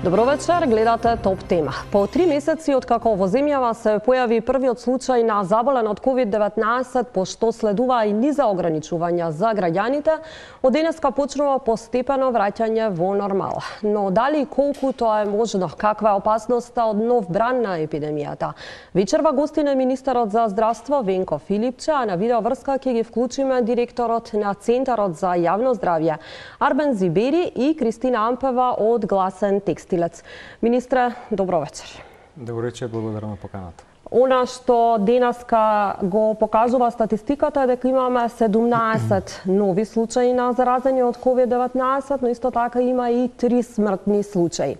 Добро вечер, гледате Топ тема. По 3 месеци откако во земјава се појави првиот случај на заболен од COVID-19, пошто следува и низа ограничувања за граѓаните, од денеска почнува постепено враќање во нормала. Но дали колку тоа е можно, каква е опасноста од нов бран на епидемијата? Вечерва гостина е министерот за здравство Венко Филипче, а на видеоврска ќе ги вклучиме директорот на Центарот за јавно здравје Арбен Зибери и Кристина Ампева од Гласен текстилец. Министре, добро вечер. Добро вечер, благодарам на поканата. Она што денеска го покажува статистиката е дека имаме 17 нови случаи на заразени од COVID-19, но исто така има и 3 смртни случаи.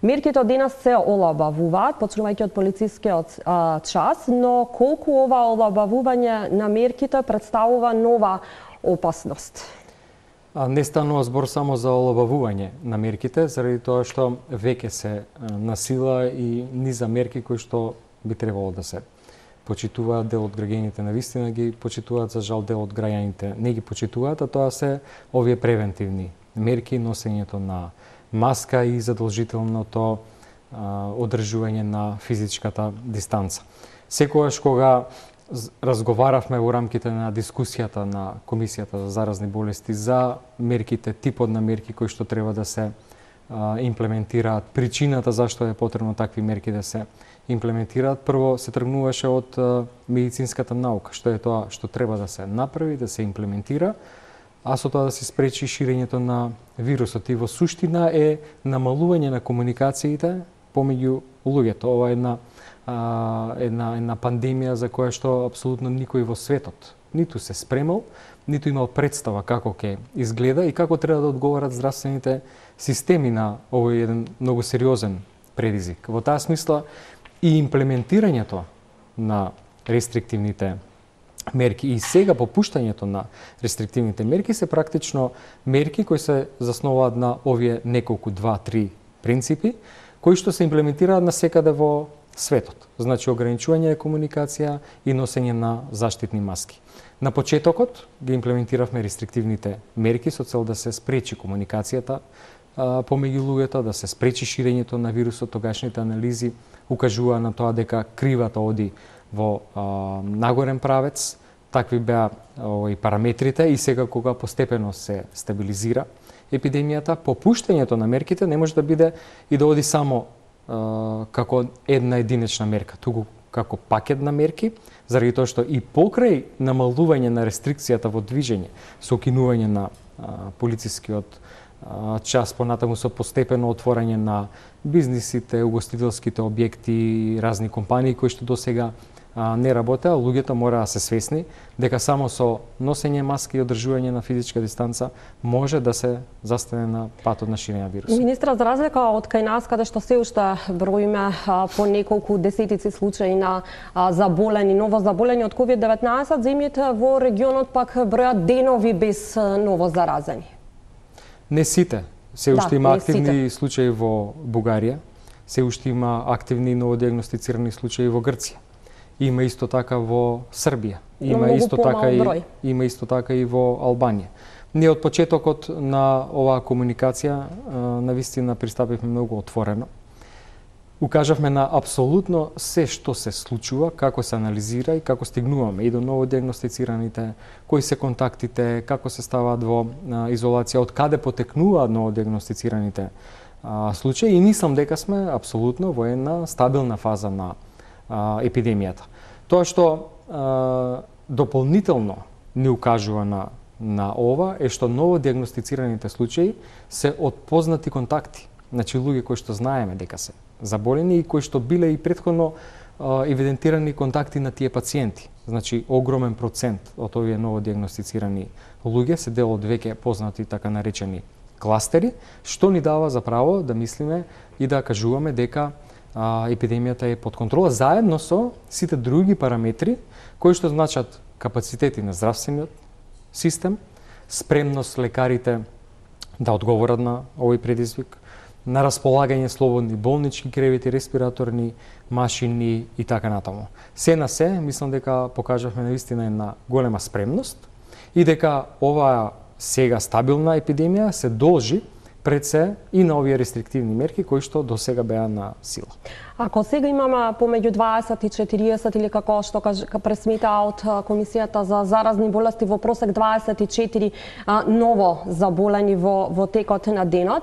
Мерките од денес се олабавуваат, почнувајќи од полицискиот час, но колку ова олабавување на мерките представува нова опасност? Не станува збор само за олабавување на мерките, заради тоа што веќе се насила и низа мерки кои што би требало да се почитуваат. Дел од граѓаните навистина ги почитуваат, за жал дел од граѓаните не ги почитуваат, а тоа се овие превентивни мерки, носењето на маска и задолжителното одржување на физичката дистанца. Секогаш кога разговаравме во рамките на дискусијата на Комисијата за заразни болести за мерките, типот на мерки кои што треба да се имплементираат, причината зашто е потребно такви мерки да се имплементираат, прво се тргнуваше од медицинската наука, што е тоа што треба да се направи, да се имплементира, а со тоа да се спречи ширењето на вирусот. И во суштина е намалување на комуникациите помеѓу луѓето. Ова е една пандемија за која што апсолутно никој во светот ниту се спремал, ниту имал представа како ќе изгледа и како треба да одговорат здравствените системи на овој еден многу сериозен предизвик. Во таа смисла и имплементирањето на рестриктивните мерки и сега попуштањето на рестриктивните мерки се практично мерки кои се заснуваат на овие неколку 2-3 принципи кои што се имплементираат насекаде во светот. Значи ограничување на комуникација и носење на заштитни маски. На почетокот ги имплементиравме рестриктивните мерки со цел да се спречи комуникацијата помеѓу луѓето, да се спречи ширењето на вирусот. Тогашните анализи укажуваа на тоа дека кривата оди во нагорен правец. Такви беа и параметрите и сега кога постепено се стабилизира епидемијата, попуштањето на мерките не може да биде и да оди само како една единечна мерка, туку како пакет на мерки, заради тоа што и покрај намалување на рестрикцијата во движење, со укинување на полицискиот час, понатаму со постепено отворање на бизнисите, угостителските објекти, разни компании кои што досега не работеа, луѓето мора да се свесни дека само со носење маски и одржување на физичка дистанца може да се застане на патот на ширење на вирусот. Министра, за разлика од кај нас, каде што се уште броиме по неколку десетици случаи на заболени, ново заболени од COVID-19, земјите во регионот пак бројат денови без ново заразени. Не сите. Се уште има активни случаи во Бугарија, се уште има активни новодиагностицирани случаи во Грција. Има исто така во Србија, има исто така и во Албанија. Ние од почетокот на оваа комуникација навистина пристапивме многу отворено. Укажавме на апсолутно се што се случува, како се анализира и како стигнуваме и до новодиагностицираните, кои се контактите, како се ставаат во изолација, од каде потекнуваат новодиагностицираните случаи и мислам дека сме апсолутно во една стабилна фаза на епидемијата. Тоа што дополнително ни укажува на ова е што новодиагностицираните случаи се од познати контакти. Значи луѓе кои што знаеме дека се заболени и кои што биле и претходно евидентирани контакти на тие пациенти. Значи огромен процент од овие новодиагностицирани луѓе се дел од веќе познати така наречени кластери, што ни дава за право да мислиме и да кажуваме дека епидемијата е под контрола, заедно со сите други параметри кои што значат капацитети на здравствениот систем, спремност лекарите да одговорат на овој предизвик, на располагање слободни болнички кревети, респираторни машини и така натаму. Се на се, мислам дека покажавме навистина една голема спремност и дека оваа сега стабилна епидемија се должи пред се и на овие рестриктивни мерки кои што до сега беа на сила. Ако сега имаме помеѓу 20 и 40 или како што пресметаа од Комисијата за заразни болести во просек 24 ново заболени во текот на денот,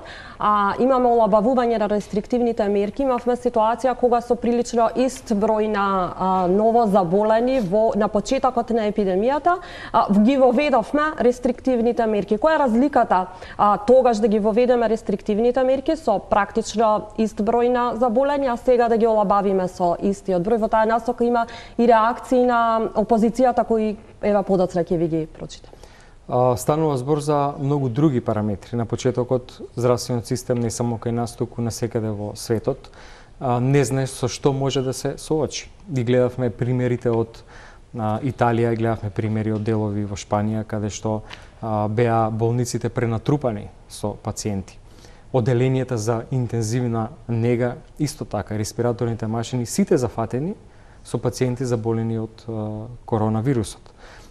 имаме олабавување на рестриктивните мерки, имавме ситуација кога со прилично ист број на ново заболени на почетокот на епидемијата ги воведовме рестриктивните мерки. Која е разликата тогаш да ги воведеме рестриктивните мерки со практично ист број на заболени, а сега да ги олабавиме со истиот број? Во таа насока има и реакции на опозицијата кои ева подоцна ќе ви ги прочитам. Станува збор за многу други параметри. На почетокот здравствениот систем не само кај нас, туку насекаде во светот не знае со што може да се соочи. И гледавме примерите од Италија, гледавме примери од делови во Шпанија каде што беа болниците пренатрупани со пациенти. Оделенијата за интензивна нега исто така, респираторните машини сите зафатени со пациенти заболени од коронавирусот.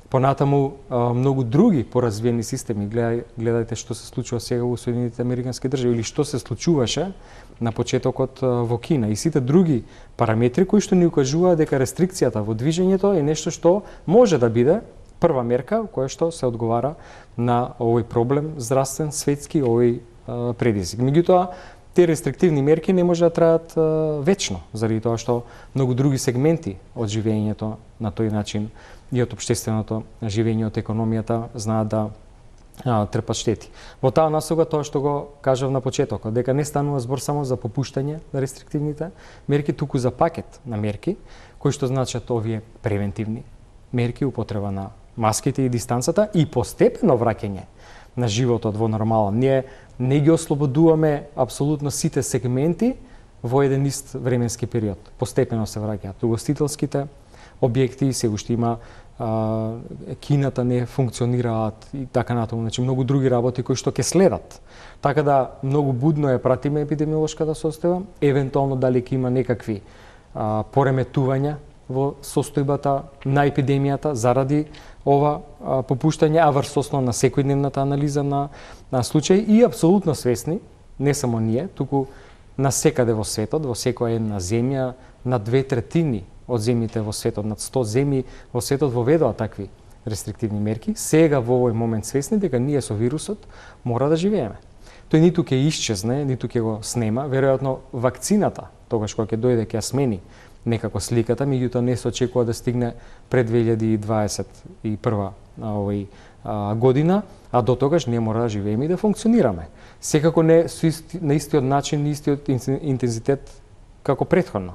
Понатаму многу други поразвиени системи, гледајте што се случува сега во Соединетите Американски држави или што се случуваше на почетокот во Кина и сите други параметри кои што ни укажуваат дека рестрикцијата во движењето е нешто што може да биде прва мерка која што се одговара на овој проблем здравствен, светски, овој предизвик. Меѓутоа, те рестриктивни мерки не може да траат вечно, заради тоа што многу други сегменти од живењето на тој начин и од општественото живење, од економијата знаат да трпат штети. Во таа насока тоа што го кажав на почетокот, дека не станува збор само за попуштање на рестриктивните мерки, туку за пакет на мерки кои што значат овие превентивни мерки, употреба на маските и дистанцата и постепено враќање на животот во нормала. Ние не ги ослободуваме апсолутно сите сегменти во еден ист временски период. Постепено се враќаат угостителските објекти, се уште има кината не функционираат и така натаму, значи многу други работи кои што ќе следат. Така да многу будно ја пратиме епидемиолошката состојба, евентуално дали ќе има некакви пореметувања во состојбата на епидемијата заради ова попуштање, а врз основа на секојдневната анализа на случаи и апсолутно свесни, не само ние, туку на секаде во светот, во секоја една земја, на 2/3 од земјите во светот, над 100 земји во светот воведоа такви рестриктивни мерки, сега во овој момент свесни дека ние со вирусот мора да живееме. Тој ниту ќе исчезне, ниту ќе го снема, веројатно вакцината, тогаш кога ќе дојде ќе ја смени некако сликата, меѓутоа не се очекува да стигне пред 2021 година, а до тогаш ние мора да живееме и да функционираме. Секако не на истиот начин, истиот интензитет како претходно.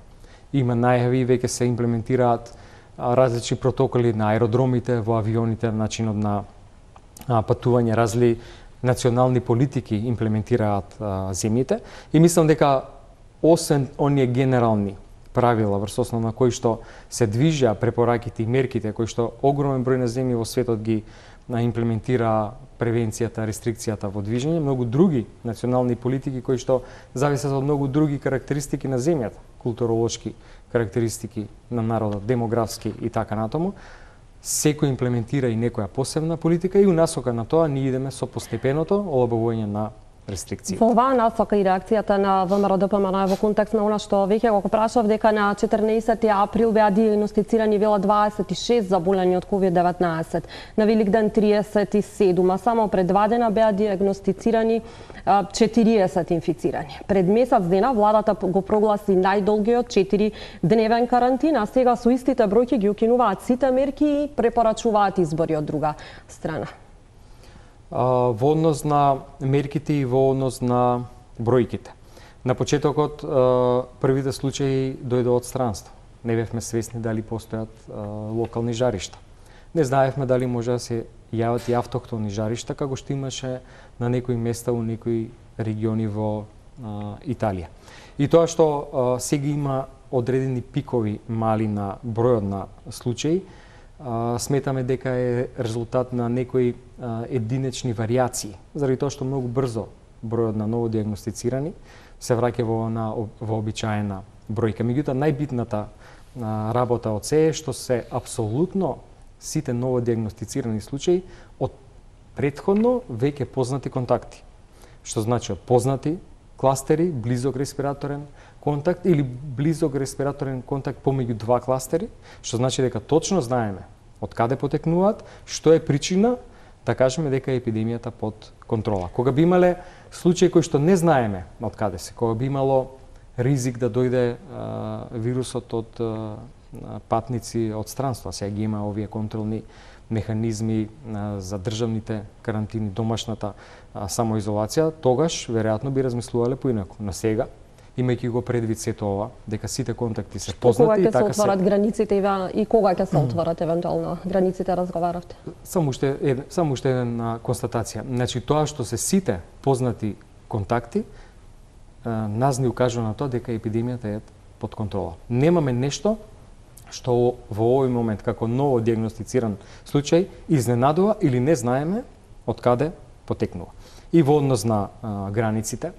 Има најави, веќе се имплементираат различни протоколи на аеродромите, во авионите, начинот на патување, разли национални политики имплементираат земјите и мислам дека освен оние генерални правила врз основа на кои што се движеа препораките и мерките кои што огромен број на земји во светот ги имплементира превенцијата, рестрикцијата во движење, многу други национални политики кои што зависат од многу други карактеристики на земјата, културолошки карактеристики на народот, демографски и така натаму. Секој имплементира и некоја посебна политика и унасока на тоа ние идеме со постепеното олабавување на рестрикции. Во оваа насока и реакцијата на ВМРО-ДПМН во контекст на она што веќе го прашав дека на 14 април беа диагностицирани вела 26 заболени од COVID-19, на Великден 37, а само пред 2 дена беа диагностицирани 40 инфицирани. Пред месец дена владата го прогласи најдолгиот 4-дневен карантин, а сега со истите бројки ги укинуваат сите мерки и препорачуваат избори од друга страна. Во однос на мерките и во однос на бројките. На почетокот првите случаи дојдоа од странство. Не бевме свесни дали постојат локални жаришта. Не знаевме дали може да се јават и автохтони жаришта, како што имаше на некои места у некои региони во Италија. И тоа што сега има одредени пикови мали на бројот на случаи, сметаме дека е резултат на некои единечни варијации, заради тоа што многу брзо бројот на ново диагностицирани се враќа во вообичаена бројка. Меѓутоа, најбитната работа од се е што се апсолутно сите ново диагностицирани случаи од претходно веќе познати контакти. што значи познати кластери, близок респираторен контакт или близок респираторен контакт помеѓу два кластери, што значи дека точно знаеме од каде потекнуваат, што е причина да кажеме дека е епидемијата под контрола. Кога би имале случаи кои што не знаеме од каде се, кога би имало ризик да дојде вирусот од патници од странство, сега ги има овие контролни механизми за државните карантини, домашната самоизолација, тогаш веројатно би размислувале поинаку. На сега, имајќи го предвид сето ова, дека сите контакти се познати и така се отварат границите и кога ќе се отварат евентуално границите, разговаравте? Само уште една констатација. Значи тоа што се сите познати контакти нас ни укажува на тоа дека епидемијата е под контрола. Немаме нешто што во овој момент како ново диагностициран случај изненадува или не знаеме од каде потекнува. И во однос на границите,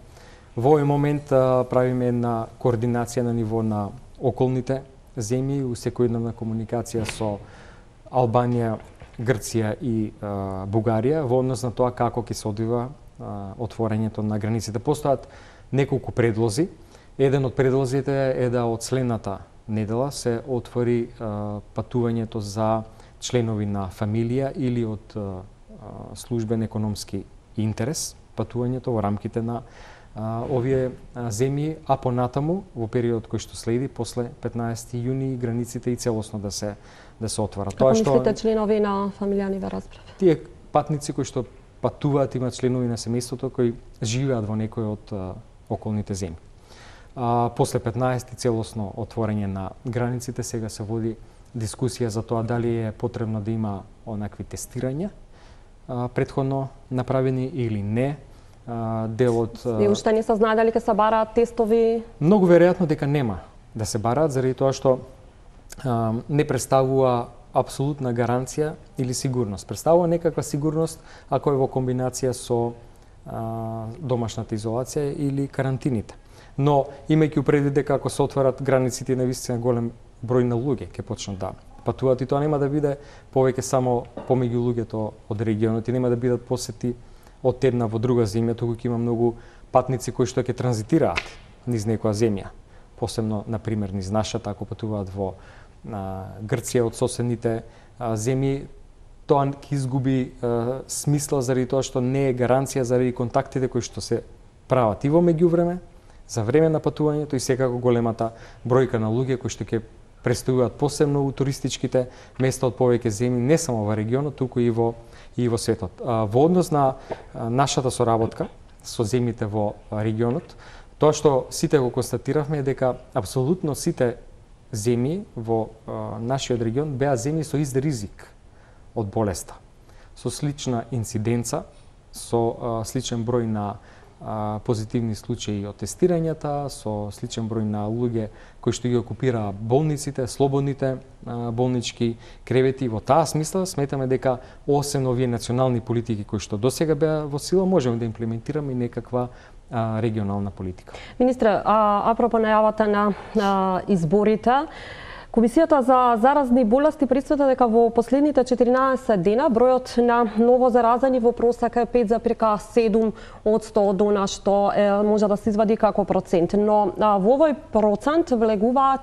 во овој момент правиме една координација на ниво на околните земји, секојдневна комуникација со Албанија, Грција и Бугарија во однос на тоа како ќе се одвива отворањето на границите. Постојат неколку предлози. Еден од предлозите е да од следната недела се отвори патувањето за членови на фамилија или од службен економски интерес, патувањето во рамките на овие земји, а понатаму во период кој што следи после 15 јуни границите и целосно да се отварат. Тоа што мислите членови на фамилијани ве разбрав? Тие патници кои што патуваат имаат членови на семејството кои живеат во некој од околните земји. После 15 целосно отворање на границите, сега се води дискусија за тоа дали е потребно да има онакви тестирања претходно направени или не. Делот и уште не се знае дали ќе се бараат тестови? Многу веројатно дека нема да се бараат заради тоа што не представува апсолутна гаранција или сигурност. Представува некаква сигурност ако е во комбинација со домашната изолација или карантините. Но имајќи предвид дека ако се отварат границите на вистина голем број на луѓе ќе почнат да патуваат и тоа нема да биде повеќе само помеѓу луѓето од регионот и нема да бидат посети од една во друга земја, туку ќе има многу патници кои што ќе транзитираат низ некоја земја. Посебно, на пример, низ нашата, ако патуваат во Грција од соседните земји, тоа ќе изгуби смисла заради тоа што не е гаранција заради контактите кои што се прават и во меѓувреме, за време на патувањето и секако големата бројка на луѓе кои што ќе престојуваат посебно у туристичките места од повеќе земји, не само во регионот, туку и во светот. Во однос на нашата соработка со земјите во регионот, тоа што сите го констатиравме е дека апсолутно сите земји во нашиот регион беа земји со ист ризик од болеста, со слична инциденца, со сличен број на позитивни случаи од тестирањата, со сличен број на луѓе кои што ги окупираа болниците, слободните болнички кревети. Во таа смисла сметаме дека освен овие национални политики кои што досега беа во сила, можеме да имплементираме и некаква регионална политика. Министре, апропо најавата на изборите, Комисијата за заразни болести пресвета дека во последните 14 дена бројот на ново заразени во просек е 5,7% од она што може да се извади како процент. Но во овој процент влегува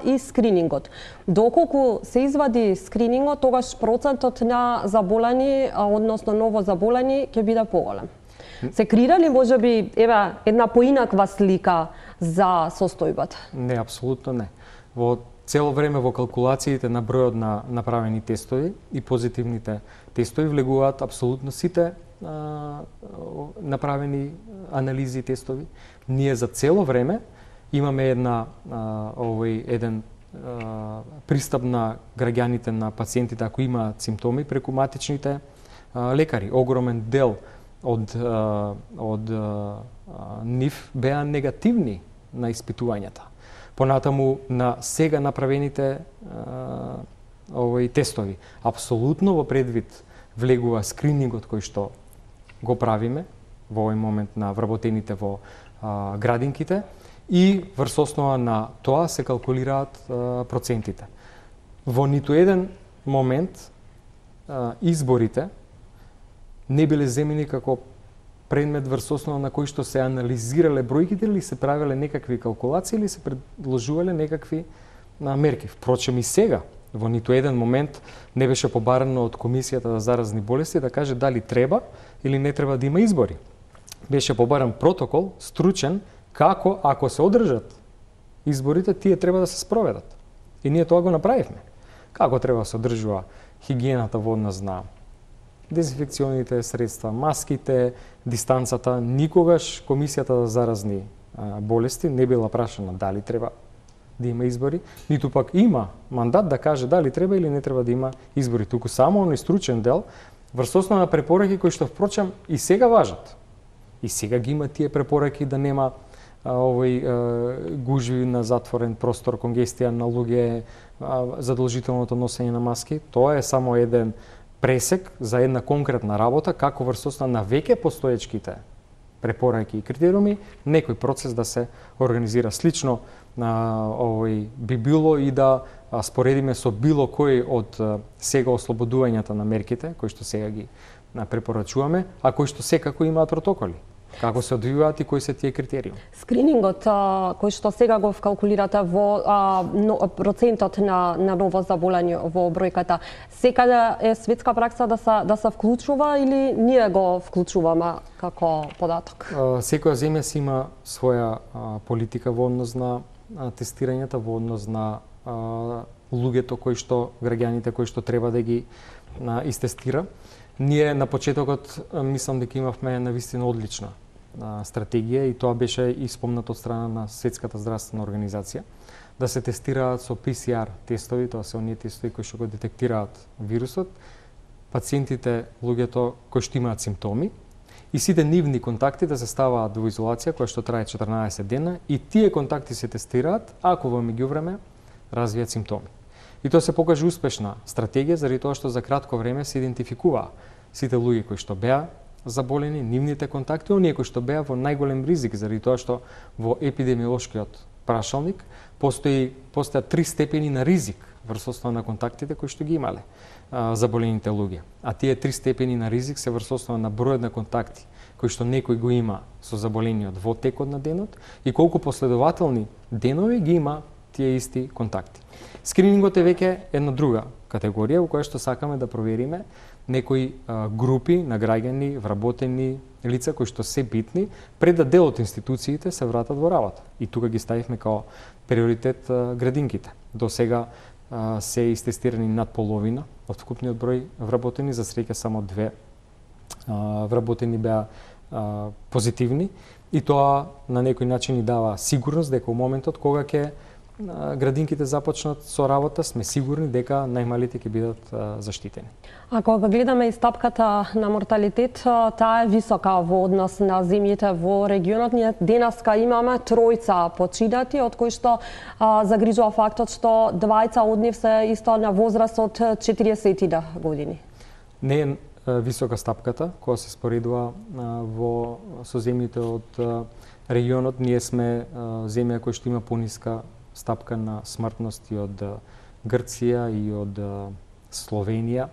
и скринингот. Доколку се извади скринингот, тогаш процентот на заболени, односно ново заболени, ќе биде поголем. Се креира ли можеби една поинаква слика за состојбата? Не, апсолутно не. Во цело време во калкулациите на бројот на направени тестови и позитивните тестови влегуваат апсолутно сите направени анализи и тестови. Ние за цело време имаме еден пристап на граѓаните, на пациентите ако имаат симптоми преку матичните лекари. Огромен дел од нив беа негативни на испитувањата. Понатаму на сега направените тестови. Апсолутно во предвид влегува скринингот кој што го правиме во овој момент на вработените во градинките и врз основа на тоа се калкулираат процентите. Во ниту еден момент изборите не биле земени како предмет врз основа на кој што се анализирале бројките или се правеле некакви калкулации или се предложувале некакви мерки. Впрочем и сега, во ниту еден момент не беше побарано од Комисијата за заразни болести да каже дали треба или не треба да има избори. Беше побаран протокол, стручен, како ако се одржат изборите, тие треба да се спроведат. И ние тоа го направивме. Како треба да се одржува хигиената во однос на дезинфекционите средства, маските, дистанцата. Никогаш Комисијата за заразни болести не била прашана дали треба да има избори, ниту пак има мандат да каже дали треба или не треба да има избори. Туку само оној стручен дел врз основа на препораки кои што впрочем и сега важат. И сега ги има тие препораки да нема гужви на затворен простор, конгестија на луѓе, задолжителното носење на маски. Тоа е само еден пресек за една конкретна работа, како врз основа на веќе постоечките препораки и критериуми, некој процес да се организира слично. Би било и да споредиме со било кој од сега ослободувањата на мерките, кои што сега ги препорачуваме, а кои што секако имаат протоколи. Како се одвиваат и кои се тие критериуми? Скринингот кој што сега го вкалкулирате во процентот на ново заболени во бројката, секаде е светска пракса да се вклучува или ние го вклучуваме како податок? Секоја земја си има своја политика во однос на тестирањата, во однос на луѓето кои што граѓаните кои што треба да ги истестира. Ние на почетокот мислам дека имавме навистина одлична стратегија и тоа беше и спомнато од страна на Светската здравствена организација, да се тестираат со PCR тестови, тоа се оние тестови кои што го детектираат вирусот, пациентите, луѓето кои што имаат симптоми и сите нивни контакти да се ставаат во изолација која што трае 14 дена и тие контакти се тестираат ако во меѓувреме развијат симптоми. И тоа се покажа успешна стратегија заради тоа што за кратко време се идентификуваа сите луѓе кои што беа заболени, нивните контакти, оние кои што беа во најголем ризик заради тоа што во епидемиолошкиот прашалник постојат 3 степени на ризик врз основа на контактите кои што ги имале заболените луѓе. А тие 3 степени на ризик се врз основа на бројот на контакти кои што некој го има со заболениот во текот на денот и колку последователни денови ги има тие исти контакти. Скринингот е веќе една друга категорија во која што сакаме да провериме некои групи на граѓани, вработени лица кои што се битни пред да дел од институциите се вратат во работа. И тука ги ставивме као приоритет градинките. До сега се истестирани над половина од вкупниот број вработени, за среќа само 2 вработени беа позитивни и тоа на некој начин ни дава сигурност дека во моментот кога ќе градинките започнат со работа, сме сигурни дека најмалите ќе бидат заштитени. А кога гледаме и стапката на морталитет, таа е висока во однос на земјите во регионот. Ние денеска имаме 3 починати, од кои што загрижува фактот што 2 од нив се исто на возраст од 40 години. Не е висока стапката која се споредува со земјите од регионот. Ние сме земја која што има пониска стапка на смртност и од Грција и од Словенија.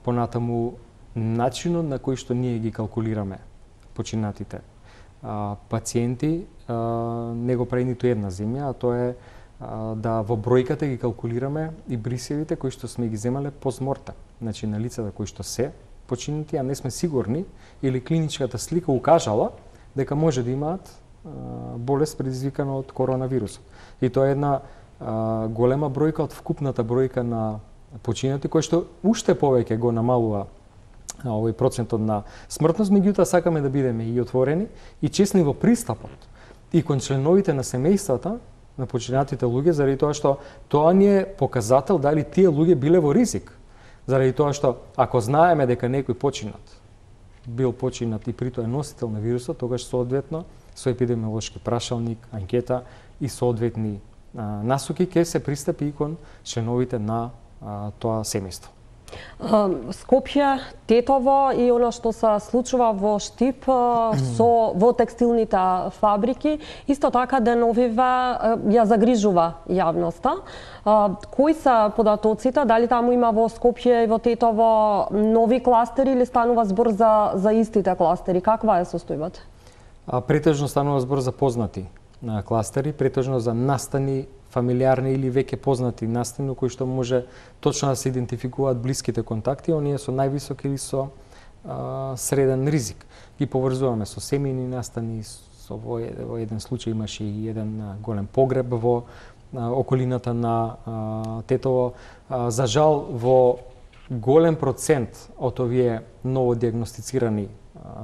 Понатаму начинот на кој што ние ги калкулираме починатите пациенти не го прави ниту една земја, а тоа е да во бројката ги калкулираме и брисевите кои што сме ги земале постмортем. Значи на лицата кои што се починати, а не сме сигурни или клиничката слика укажала дека може да имаат болест предизвикана од коронавирусот. И тоа е една голема бројка од вкупната бројка на починати, кој што уште повеќе го намалува овој процентот на смртност, меѓутоа сакаме да бидеме и отворени и честни во пристапот и кон членовите на семејствата на починатите луѓе, заради тоа што тоа ни е показател дали тие луѓе биле во ризик. Заради тоа што ако знаеме дека некој бил починат и притоа е носител на вирусот, тогаш соодветно со епидемиолошки прашалник, анкета и соодветни насоки ќе се пристапи и кон членовите на тоа семејство. Скопје, Тетово и она што се случува во Штип во текстилните фабрики, исто така деновиве ја загрижува јавноста. Кои се податоците? Дали таму има во Скопје и во Тетово нови кластери или станува збор за истите кластери? Каква е состојбата? Претежно станува збор за познати кластери, претежно за настани, фамилиарни или веќе познати настани, кои што може точно да се идентификуваат блиските контакти, оние со највисок или со среден ризик. Ги поврзуваме со семејни настани, во еден случај имаше и еден голем погреб во околината на Тетово. За жал, во голем процент од овие новодиагностицирани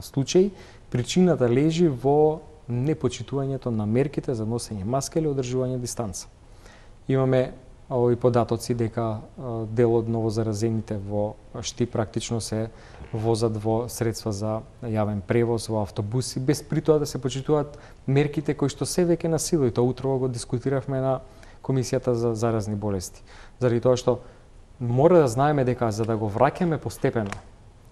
случаи, причината лежи во непочитувањето на мерките за носење маска или одржување дистанца. Имаме овои податоци дека дел од новозаразените во Штип практично се возат во средства за јавен превоз, во автобуси, без при тоа да се почитуваат мерките кои што се веќе на сила. И тоа утрово го дискутиравме на Комисијата за заразни болести. Заради тоа што мора да знаеме дека за да го враќаме постепено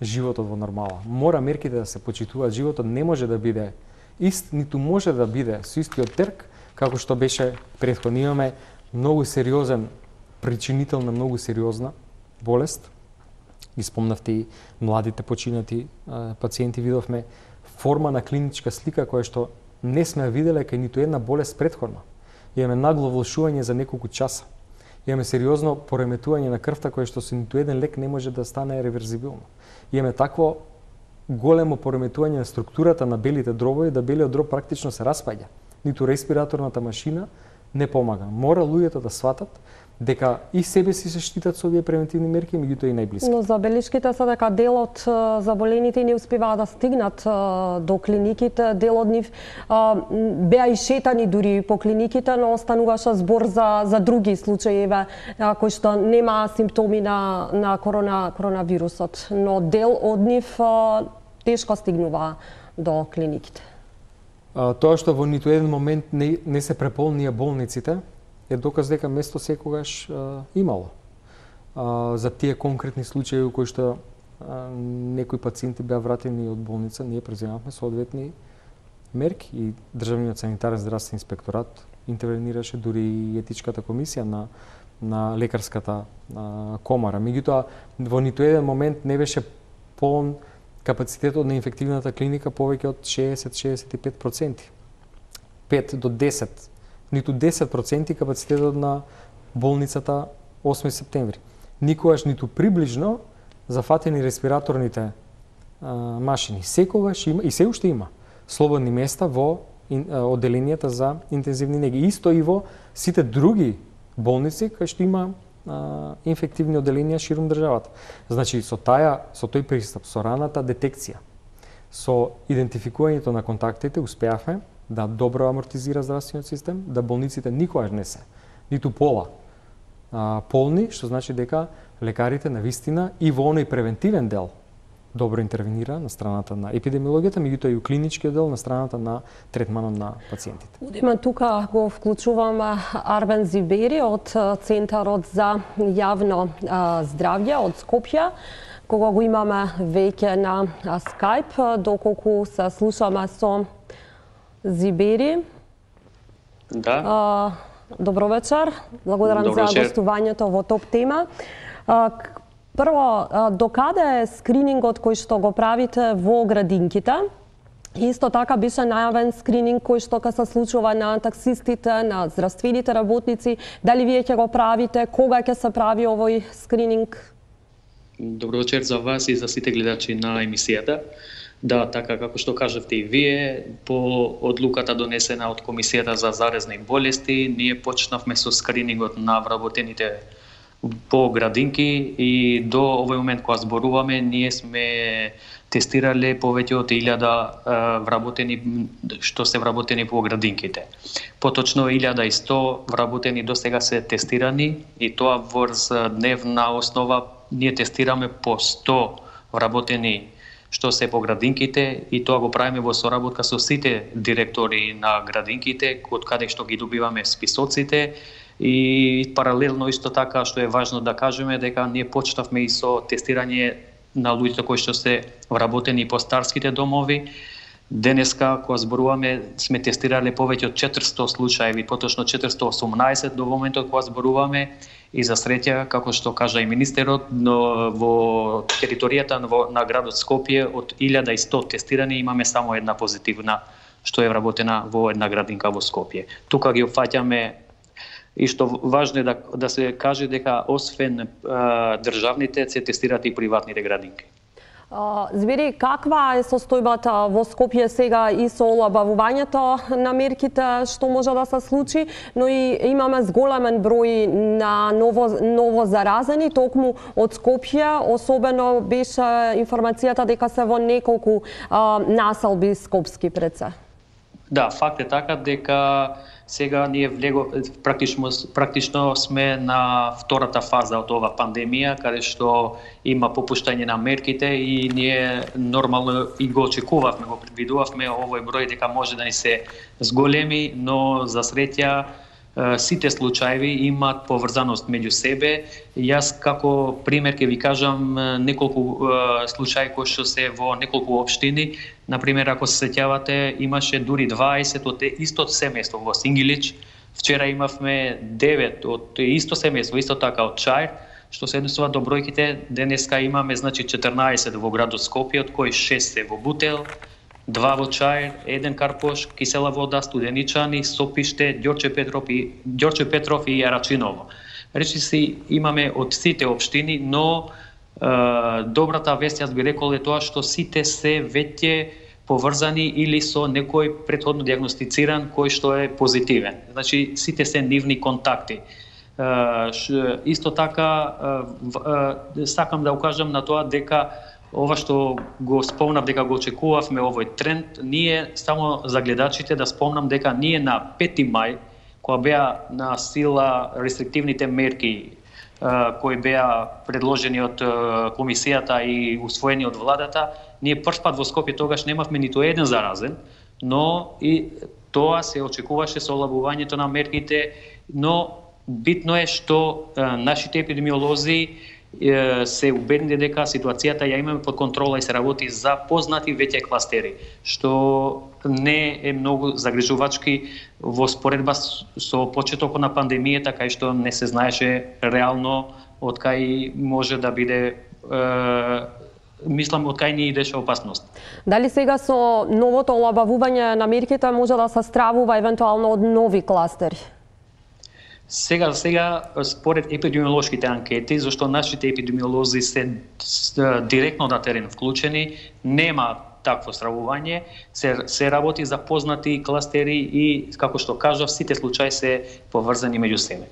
животот во нормала, мора мерките да се почитуваат. Животот не може да биде ист, ниту може да биде со истиот терк, како што беше претходно. Имаме многу сериозен причинител на многу сериозна болест. Ги спомнавте и младите починати пациенти, видовме форма на клиничка слика која што не сме виделе кај ниту една болест претходно. Имаме нагло влошување за неколку часа. Имаме сериозно пореметување на крвта кое што со ниту еден лек не може да стане реверзибилно. Имаме такво големо пореметување на структурата на белите дробови, да белиот дроб практично се распаѓа. Ниту респираторната машина не помага. Мора луѓето да сватат дека и себе си се штитат со овие превентивни мерки, меѓутоа и најблиски. Но забелишките се дека дел од заболените не успеваат да стигнат до клиниките, дел од нив беа и шетани дури по клиниките, но остануваше збор за други случаи кои што немаа симптоми на коронавирусот, но дел од нив тешко стигнува до клиниките. Тоа што во ниту еден момент не се преполнија болниците е доказ дека место секогаш имало. За тие конкретни случаи во кои што некои пациенти беа вратени од болница, ние преземавме соодветни мерки и Државниот санитарен здравствен инспекторат интервенираше, дури и етичката комисија на лекарската комора. Меѓутоа, во ниту еден момент не беше полн капацитетот на инфективната клиника повеќе од 60-65%. 5 до 10, ниту 10% капацитетот на болницата 8 септември. Никогаш ниту приближно зафатени респираторните машини. Секогаш има и се уште има слободни места во одделенијата за интензивни неги. Исто и во сите други болници кај што има инфективни одделенија ширум државата. Значи, со тој пристап, со раната детекција, со идентификувањето на контактите, успеавме да добро амортизира здравствениот систем, да болниците никогаш не се, ниту пола полни, што значи дека лекарите на вистина и во оној превентивен дел добро интервенира на страната на епидемиологијата, меѓутоа и у клиничкиот дел на страната на третманот на пациентите. Одиме тука го вклучуваме Арвен Зибери од Центарот за јавно здравје од Скопје, кога го имаме веќе на Skype, доколку се слушаме со Зибери. Да. Добро вечер. Благодарам за гостувањето во Топ тема. Прво, докаде е скринингот кој што го правите во градинките? Исто така беше најавен скрининг кој што се случува на таксистите, на здравствените работници. Дали вие ќе го правите? Кога ќе се прави овој скрининг? Добро вечер за вас и за сите гледачи на емисијата. Да, така како што кажавте и вие, по одлуката донесена од Комисијата за заразни болести, ние почнавме со скринингот на вработените по градинки и до овој момент кога зборуваме, ние сме тестирале повеќе од 1000 вработени што се вработени по градинките. Поточно 1100 вработени до сега се тестирани и тоа врз дневна основа ние тестираме по 100 вработени што се по градинките и тоа го правиме во соработка со сите директори на градинките, од каде што ги добиваме списоците. И паралелно исто така што е важно да кажеме дека ние почнавме и со тестирање на луѓето кои што се вработени по старските домови. Денеска, кога зборуваме, сме тестирале повеќе од 400 случаи, поточно 418 до моментот кога зборуваме, и за среќа, како што кажа и министерот, но во територијата на градот Скопје од 1100 тестирани имаме само една позитивна, што е вработена во една градинка во Скопје. Тука ги опфаќаме. И што важно е да се каже дека освен државните се тестираат и приватните градинки. Збери, каква е состојбата во Скопје сега и со олабавувањето на мерките што може да се случи, но и имаме зголемен број на ново заразени токму од Скопје, особено беше информацијата дека се во неколку населби скопски пред се. Да, факт е така дека сега ние практично сме на втората фаза од ова пандемија, каде што има попуштање на мерките и ние нормално и го очекувавме, го предвидувавме овој број дека може да ни се зголеми, но за среќа сите случаи имаат поврзаност меѓу себе. Јас како пример ќе ви кажам неколку случаи кои што се во неколку општини. Например, ако се сеќавате, имаше дури 20 од истото семејство во Сингилич. Вчера имавме 9 од исто семејство, исто така од Чаир, што се однесува до бројките. Денеска имаме 14 во градот Скопје, од кои 6 се во Бутел, 2 во Чаир, 1 Карпош, Кисела вода, Студеничани, Сопиште, Ѓорче Петров и Арачиново. Речиси имаме од сите општини, но добрата вест, јас би рекол, е тоа што сите се веќе поврзани или со некој претходно диагностициран кој што е позитивен. Значи, сите се нивни контакти. Исто така, сакам да укажам на тоа дека ова што го спомнав дека го очекувавме овој тренд, ние само за гледачите да спомнам дека ние на 5 мај, кога беа на сила рестриктивните мерки кои беа предложени од комисијата и усвоени од владата, ние првпат во Скопје тогаш немавме ниту еден заразен, но и тоа се очекуваше со олабувањето на мерките, но битно е што нашите епидемиолози се убедени дека ситуацијата ја имаме под контрола и се работи за познати веќе кластери, што не е многу загрижувачки во споредба со почетокот на пандемијата, кај што не се знаеше реално од кај може да биде, мислам, од кај ни идеше опасност. Дали сега со новото олабавување на мерките може да се стравува евентуално од нови кластери? Сега, според епидемиолошките анкети, зашто нашите епидемиолози се директно на терен вклучени, нема такво стравување, се работи за познати кластери и, како што кажав, сите случаи се поврзани меѓу себе.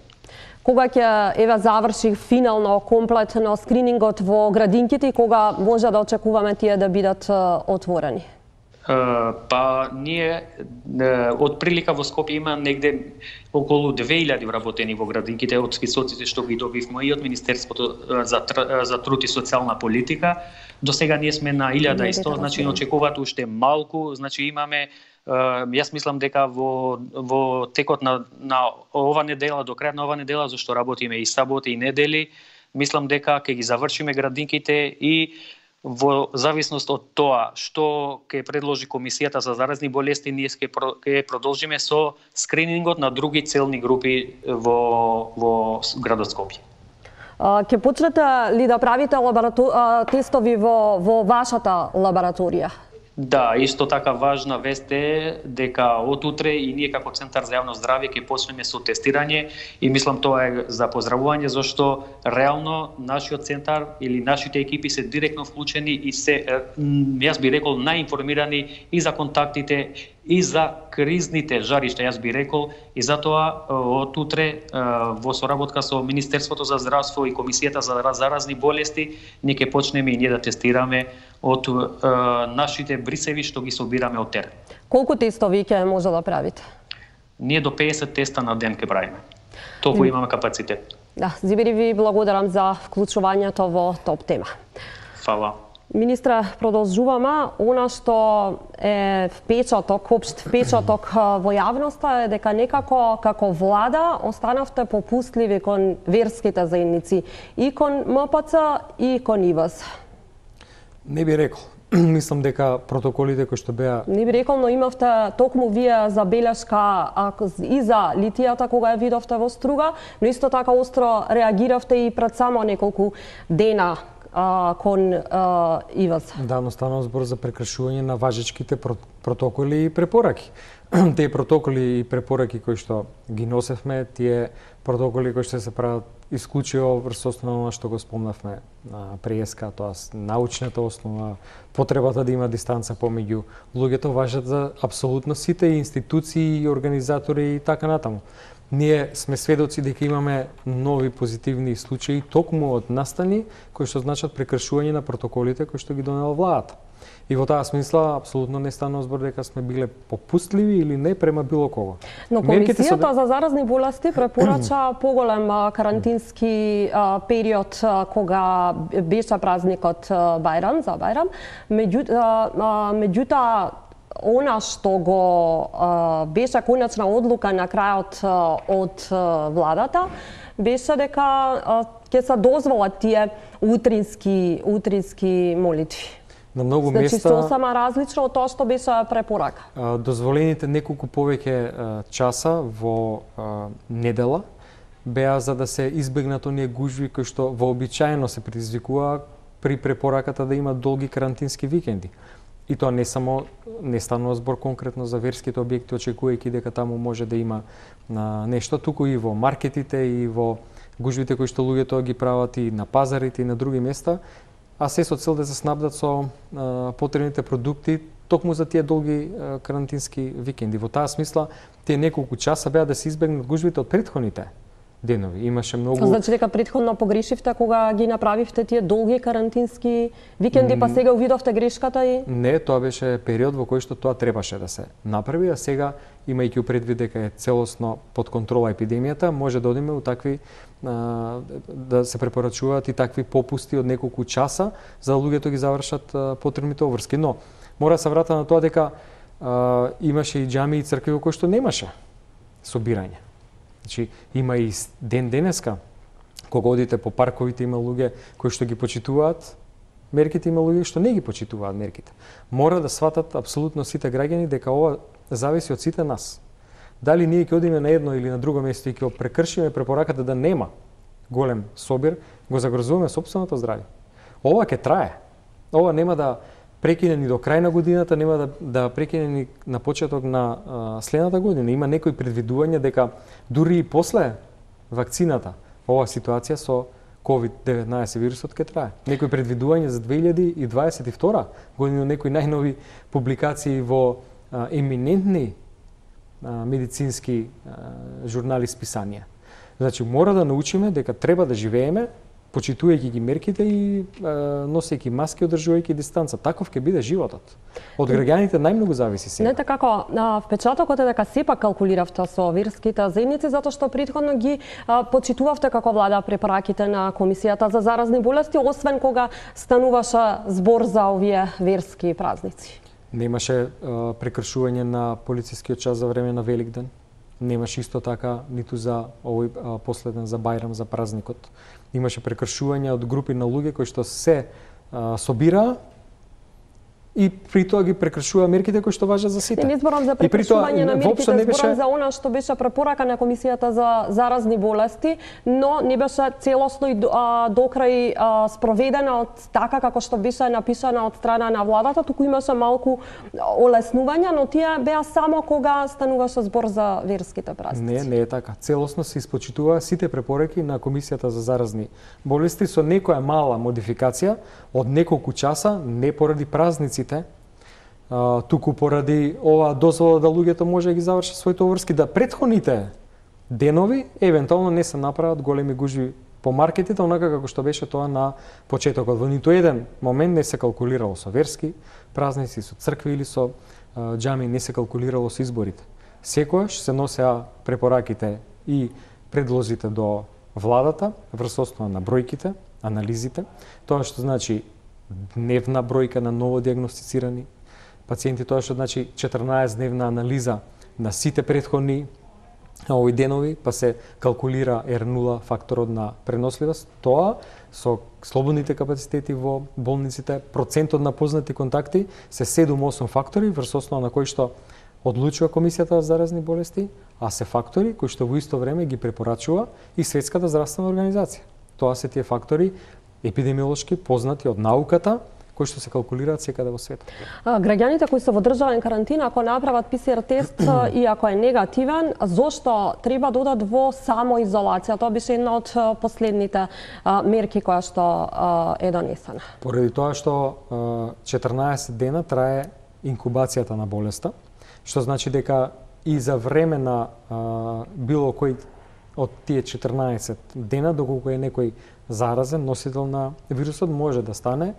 Кога ќе заврши финално комплетно скринингот во градинките и кога може да очекуваме тие да бидат отворени? Па ние од прилика во Скопје има негде околу 2000 вработени во градинките од списоците што ги добивме и од Министерството за труд и социјална политика. До сега ние сме на 1100, значи очекуваат уште малку, значи имаме, јас мислам дека во текот на ова недела, до крајот на ова недела, зашто работиме и саботи и недели, мислам дека ќе ги завршиме градинките и во зависност од тоа што ќе предложи Комисијата за заразни болести, ние ќе продолжиме со скринингот на други целни групи во градот Скопје. Ќе почнете ли да правите тестови во вашата лабораторија? Да, исто така важна вест е дека од утре и ние како Центар за јавно здравје ќе почнеме со тестирање и мислам тоа е за поздравување, зашто реално нашиот центар или нашите екипи се директно вклучени и се, јас би рекол, наинформирани и за контактите и за кризните жаришта, јас би рекол, и затоа од утре во соработка со Министерството за здравство и Комисијата за заразни болести ние ќе почнеме и ние да тестираме од нашите брисеви што ги собираме од терен. Колку тестови ќе може да правите? Ние до 50 теста на ден ќе правиме. Толку имаме капацитет. Да, Зибери, ви благодарам за вклучувањето во ТОП тема. Фала. Министре, продолжуваме. Она што е впечаток, општ впечаток во јавноста е дека некако како влада останавте попустливи кон верските заедници, и кон МПЦ и кон ИВС. Не би рекол. Мислам дека протоколите кои што беа... Не би рекол, но имавте токму вие забелешка и за литијата кога ја видовте во Струга, но исто така остро реагиравте и пред само неколку дена кон ИВС. Да, но станува збор за прекршување на важечките протоколи и препораки. Тие протоколи и препораки кои што ги носевме, тие протоколи кои што се прават исклучиво врз основа што го спомнавме преска, тоа научната основа, потребата да има дистанца помеѓу луѓето, важат за апсолутно сите институции и организатори и така натаму. Ние сме сведоци дека имаме нови позитивни случаи токму од настани кои што значат прекршување на протоколите кои што ги донела владата. И во таа смисла апсолутно не станува збор дека сме биле попустливи или не према било кого. Но Комисијата за заразни болести препорача поголем карантински период кога беше празникот Бајрам, за Бајрам. Меѓутоа она што го беше конечна одлука на крајот од владата беше дека ќе се дозволат тие утрински молитви. На многу места... места... сосема различно од тоа што беше препорака. Дозволените неколку повеќе часа во недела беа за да се избегнат оние гужви кои што вообичаено се предизвикува при препораката да има долги карантински викенди. И тоа не станува збор конкретно за верските објекти, очекувајќи дека таму може да има нешто, туку и во маркетите и во гужвите кои што луѓето ги прават и на пазарите и на други места, а се со цел да се снабдат со потребните продукти токму за тие долги карантински викенди. Во таа смисла, тие неколку часа беа да се избегнат гужвите од претходните денови. Имаше многу... Значи дека претходно погрешивте кога ги направивте тие долги карантински викенди, па сега увидовте грешката и... Не, тоа беше период во кој што тоа требаше да се направи, а сега, имајќи предвид дека е целосно под контрола епидемијата, може да одиме у такви да се препорачуваат и такви попусти од неколку часа за да луѓето ги завршат потребните обврски. Но мора да се врата на тоа дека имаше и џами и цркви во кои што немаше собирање. Значи има и ден денеска кога одите по парковите има луѓе кои што ги почитуваат мерките, има луѓе што не ги почитуваат мерките. Мора да сватат апсолутно сите граѓани дека ова зависи од сите нас. Дали ние ќе одиме на едно или на друго место и ќе прекршиме препораката да нема голем собир, го загрозуваме сопственото здравје. Ова ќе трае. Ова нема да прекине ни до крај на годината, нема да прекине ни на почеток на следната година. Има некои предвидувања дека дури и после вакцината, ова ситуација со COVID-19 вирусот ќе трае. Некои предвидувања за 2022 година, некои најнови публикации во еминентни медицински журнали, списанија. Значи, мора да научиме дека треба да живееме, почитувајќи ги мерките и носејќи маски, одржувајќи дистанца. Таков ќе биде животот. Од граѓаните најмногу зависи сега. Не така, впечатокот е дека сепак калкулиравте со верските заедници, затоа што претходно ги почитувавте како влада препораките на Комисијата за заразни болести, освен кога стануваше збор за овие верски празници. Немаше прекршување на полицискиот час за време на Великден. Немаше исто така ниту за овој последен за Бајрам, за празникот. Имаше прекршување од групи на луѓе кои што се собираа и при тоа ги прекршува мерките кои што важат за сите. Не зборам за прекршување на мерките, зборам за она што беше препорака на Комисијата за заразни болести, но не беше целосно и докрај спроведена од така како што беше напишана од страна на владата, туку имаше малку олеснувања, но тие беа само кога стануваше збор за верските празници. Не е така. Целосно се испочитува сите препораки на Комисијата за заразни болести со некоја мала модификација од неколку часа, не поради празници, туку поради ова дозвола да луѓето може да ги завршат своите обврски, да претходните денови евентуално не се направат големи гужви по маркетите, онака како што беше тоа на почетокот. Во ниту еден момент не се калкулирало со верски празници, со цркви или со џами, не се калкулирало со изборите. Секојаш се носеа препораките и предлозите до владата врз основа на бројките, анализите, тоа што значи дневна бројка на ново диагностицирани пациенти, тоа што значи 14-дневна анализа на сите претходни овој денови, па се калкулира R0 факторот на преносливост. Тоа со слободните капацитети во болниците, процентот на познати контакти се 7-8 фактори врз основа на кои што одлучува Комисијата за заразни болести, а се фактори кои што во исто време ги препорачува и Светската здравствена организација. Тоа се тие фактори епидемиолошки познати од науката, кои што се калкулираат секаде во светот. Граѓаните кои се во државен карантин, ако направат ПСР тест и ако е негативен, зошто треба да одат во самоизолација? Тоа беше една од последните мерки која што е донесена. Поради тоа што 14 дена трае инкубацијата на болеста, што значи дека и за време на било кој од тие 14 дена, доколку е некој заразен, носител на вирусот, може да стане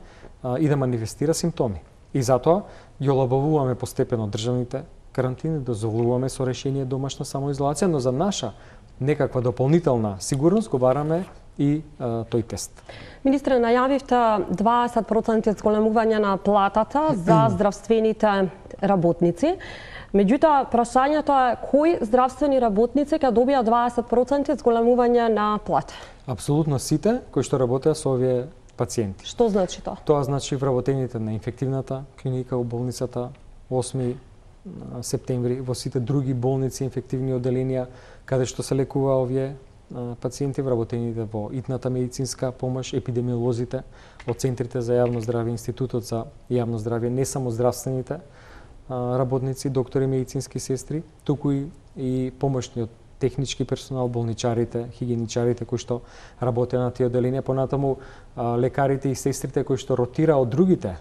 и да манифестира симптоми. И затоа ги олабавуваме постепено државните карантини, дозволуваме со решение домашна самоизолација, но за наша некаква дополнителна сигурност го бараме и тој тест. Министре, најавивте 20% зголемување на платата за здравствените работници. Меѓутоа, прашањето е кои здравствени работници ќе добијат 20% зголемување на плата? Апсолутно сите кои што работеа со овие пациенти. Што значи тоа? Тоа значи вработените на инфективната клиника во болницата 8 септември, во сите други болници, инфективни оделенија, каде што се лекува овие пациенти, вработените во итната медицинска помош, епидемиолозите од центрите за јавно здравје, Институтот за јавно здравје, не само здравствените работници, доктори, медицински сестри, туку и помошниот технички персонал, болничарите, хигиеничарите кои што работеа на тие оделенија, понатаму лекарите и сестрите кои што ротира од другите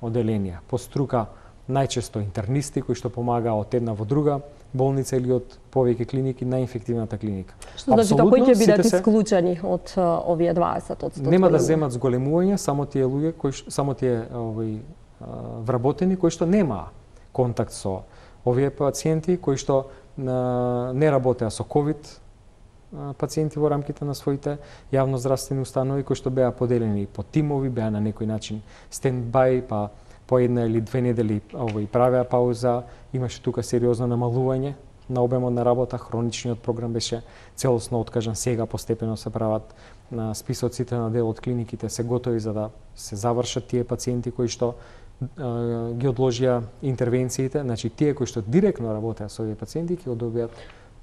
оделенија, по струка најчесто интернисти кои што помагаа од една во друга болница или од повеќе клиники на инфективната клиника. Што значи дека кои ќе бидат исклучени од овие 20%? Нема да земат зголемување само тие луѓе кои само тие вработени кои што немаа контакт со овие пациенти кои што не работеа со ковид пациенти во рамките на своите јавноздравствени установи кои што беа поделени по тимови, беа на некој начин стендбај, па по една или две недели правеа пауза, имаше тука сериозно намалување на обемот на работа, хроничниот програм беше целосно откажан, сега постепено се прават на списоците на дел од клиниките се готови за да се завршат тие пациенти кои што ги одложија интервенциите, значи тие кои што директно работеа со овие пациенти ќе добијат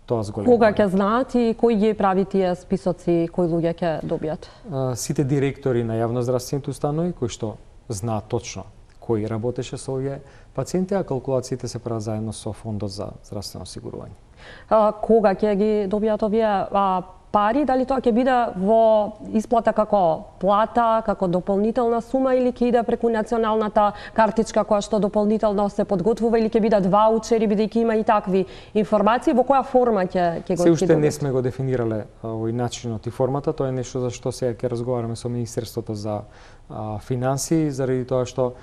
тоа зголемување. Кога ќе знаат и кој ги прави тие списоци, кои луѓе ќе добијат? Сите директори на јавноздравствените установи кои што знаат точно кој работеше со овие пациенти, а калкулациите се прават заедно со Фондот за здравствено осигурување. Кога ќе ги добијат овие пари, дали тоа ќе биде во исплата како плата, како дополнителна сума или ќе иде преку националната картичка која што дополнително се подготвува или ќе бидат ваучери, бидејќи има и такви информации, во која форма ќе го се уште не сме го дефинирале овој начинот и формата, тоа е нешто за што сега ќе разговараме со Министерството за финансии, заради тоа што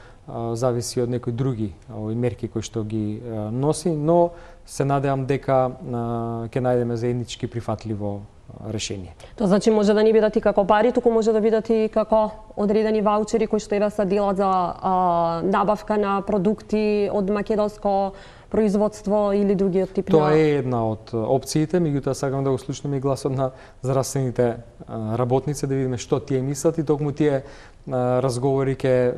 зависи од некои други мерки кои што ги носи, но се надевам дека ќе најдеме заеднички прифатливо решение. Тоа значи може да не бидат и како пари, туку може да бидат и како одредени ваучери кои што се делат за набавка на продукти од македонско производство или другиот тип на... Тоа е една од опциите, меѓутоа сакам да го слушнеме и гласот на здравствените работници, да видиме што тие мислат и токму тие разговори ќе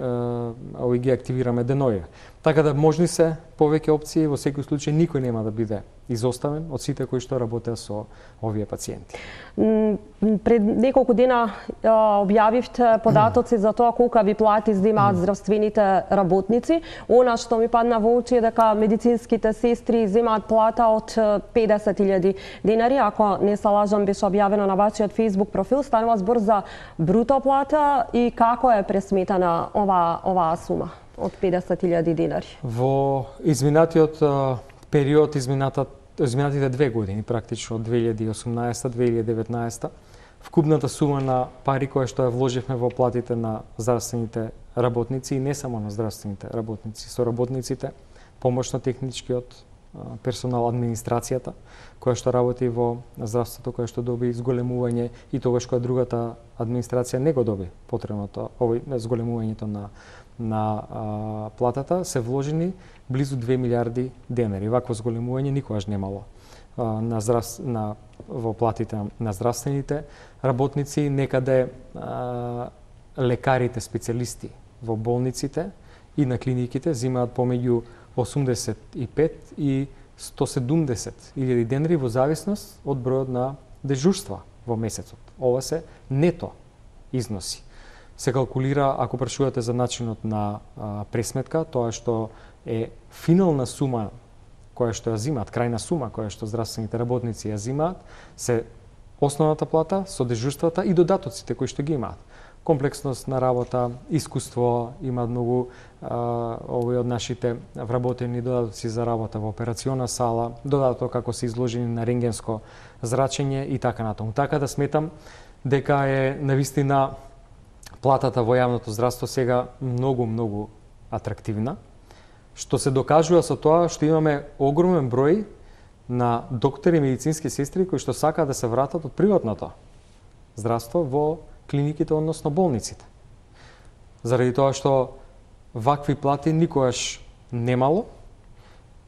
ги активираме деноје. Така да можни се повеќе опции, во секој случај никој нема да биде изоставен од сите кои што работеа со овие пациенти. Пред неколку дена објавивте податоци за тоа колка ви плати земаат здравствените работници. Она што ми падна во очи е дека медицинските сестри земаат плата од 50.000 денари. Ако не се лажам, беше објавено на вашиот Facebook профил. Станува збор за бруто плата и како е пресметана оваа сума од 50.000 денари? Во изминатиот период, изминатите 2 години, практично од 2018-2019, вкупната сума на пари која што ја вложивме во платите на здравствените работници и не само на здравствените работници, со работниците, помошно-техничкиот персонал администрацијата, која што работи во здравството, која што доби зголемување и тогаш кога другата администрација не го доби потребното, зголемувањето на платата, се вложени близу 2 милиарди денари. Вакво зголемување никогаш немало во платите на здравствените работници, некаде лекарите специјалисти во болниците и на клиниките земаат помеѓу 85 и 170 илјади денари во зависност од бројот на дежурства во месецот. Ова се нето износи. Се калкулира, ако прашувате за начинот на пресметка, тоа што е финална сума која што ја земаат, крајна сума која што здравствените работници ја земаат, се основната плата со дежурствата и додатоците кои што ги имаат. Комплексност на работа, искуство, имаат многу овој од нашите вработени додатоци за работа во операциона сала, додаток како се изложени на рентгенско зрачење и така натаму. Така да сметам дека е навистина платата во јавното здравство сега многу атрактивна, што се докажува со тоа што имаме огромен број на доктори и медицински сестри кои што сакаат да се вратат од приватното здравство во клиниките, односно болниците. Заради тоа што вакви плати никогаш немало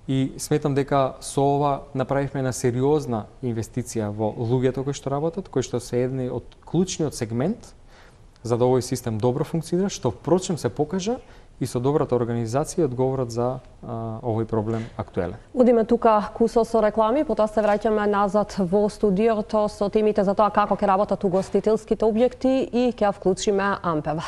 и сметам дека со ова направивме една сериозна инвестиција во луѓето кои што работат, кои што се едни од клучниот сегмент за да овој систем добро функционира, што впрочем се покажа и со добрата организација одговорат за овој проблем актуелен. Одиме тука кусо со реклами, потоа се враќаме назад во студиото со темите за тоа како ќе работат угостителските објекти и ќе вклучиме Ампева.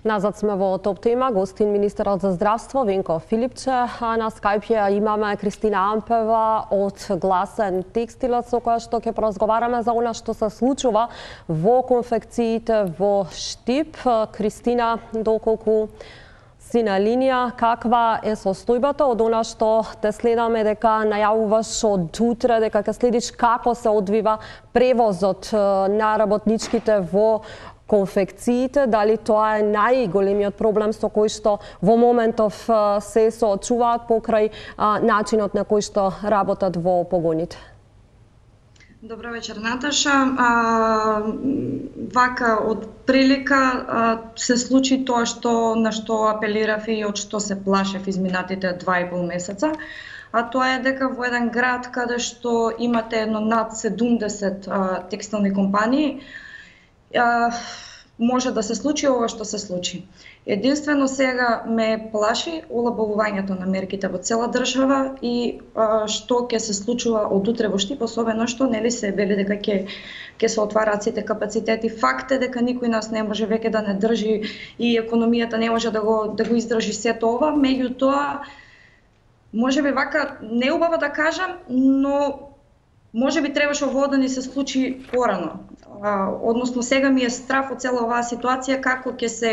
Назад сме во топ тема, гостин министерот за здравство Венко Филипче, а на Скајп ја имаме Кристина Ампева од Гласен текстилот со која што ќе поразговараме за она што се случува во конфекциите во Штип. Кристина, доколку си на линија, каква е состојбата од она што те следаме дека најавуваш од утре, дека ќе следиш како се одвива превозот на работничките во конфекциите, дали тоа е најголемиот проблем со кој што во моментов се соочуваат покрај начинот на кој што работат во погоните? Добро вечер, Наташа. Вака, од прилика се случи тоа на што апелирав и од што се плашев изминатите 2,5 месеца, а тоа е дека во еден град каде што имате едно над 70 текстилни компании, може да се случи ова што се случи. Единствено сега ме плаши олабавувањето на мерките во цела држава и што ќе се случува од утре во Штип, особено што нели се вели дека ќе се отвараат сите капацитети. Факт е дека никој нас не може веќе да не држи и економијата не може да го издржи сето ова, меѓутоа можеби вака неубаво да кажам, но можеби требаше ово да ни се случи порано. Односно сега ми е страф од цела оваа ситуација како ќе се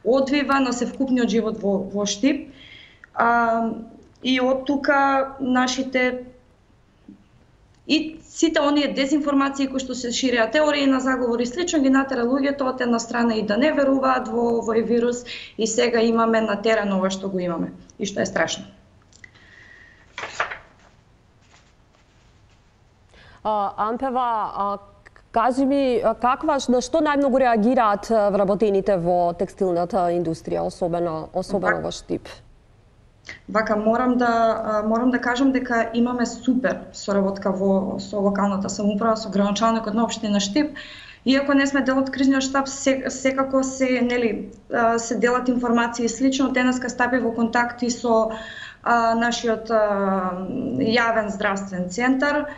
одвива на севкупниот живот во Штип. И од тука нашите и сите оние дезинформации кои што се ширеа, теории на заговор и слично, ги натера луѓето од една страна и да не веруваат во овој вирус, и сега имаме на терен ова што го имаме и што е страшно. Ампева, кажи ми, на што најмногу реагираат вработените во текстилната индустрија, особено во Штип? Вака, морам да кажам дека имаме супер соработка со локалната самоуправа, со градоначалникот на општина Штип. Иако не сме дел од кризниот штаб, секако се делат информации и слично. Денеска стапи во контакти со нашиот јавен здравствен центар.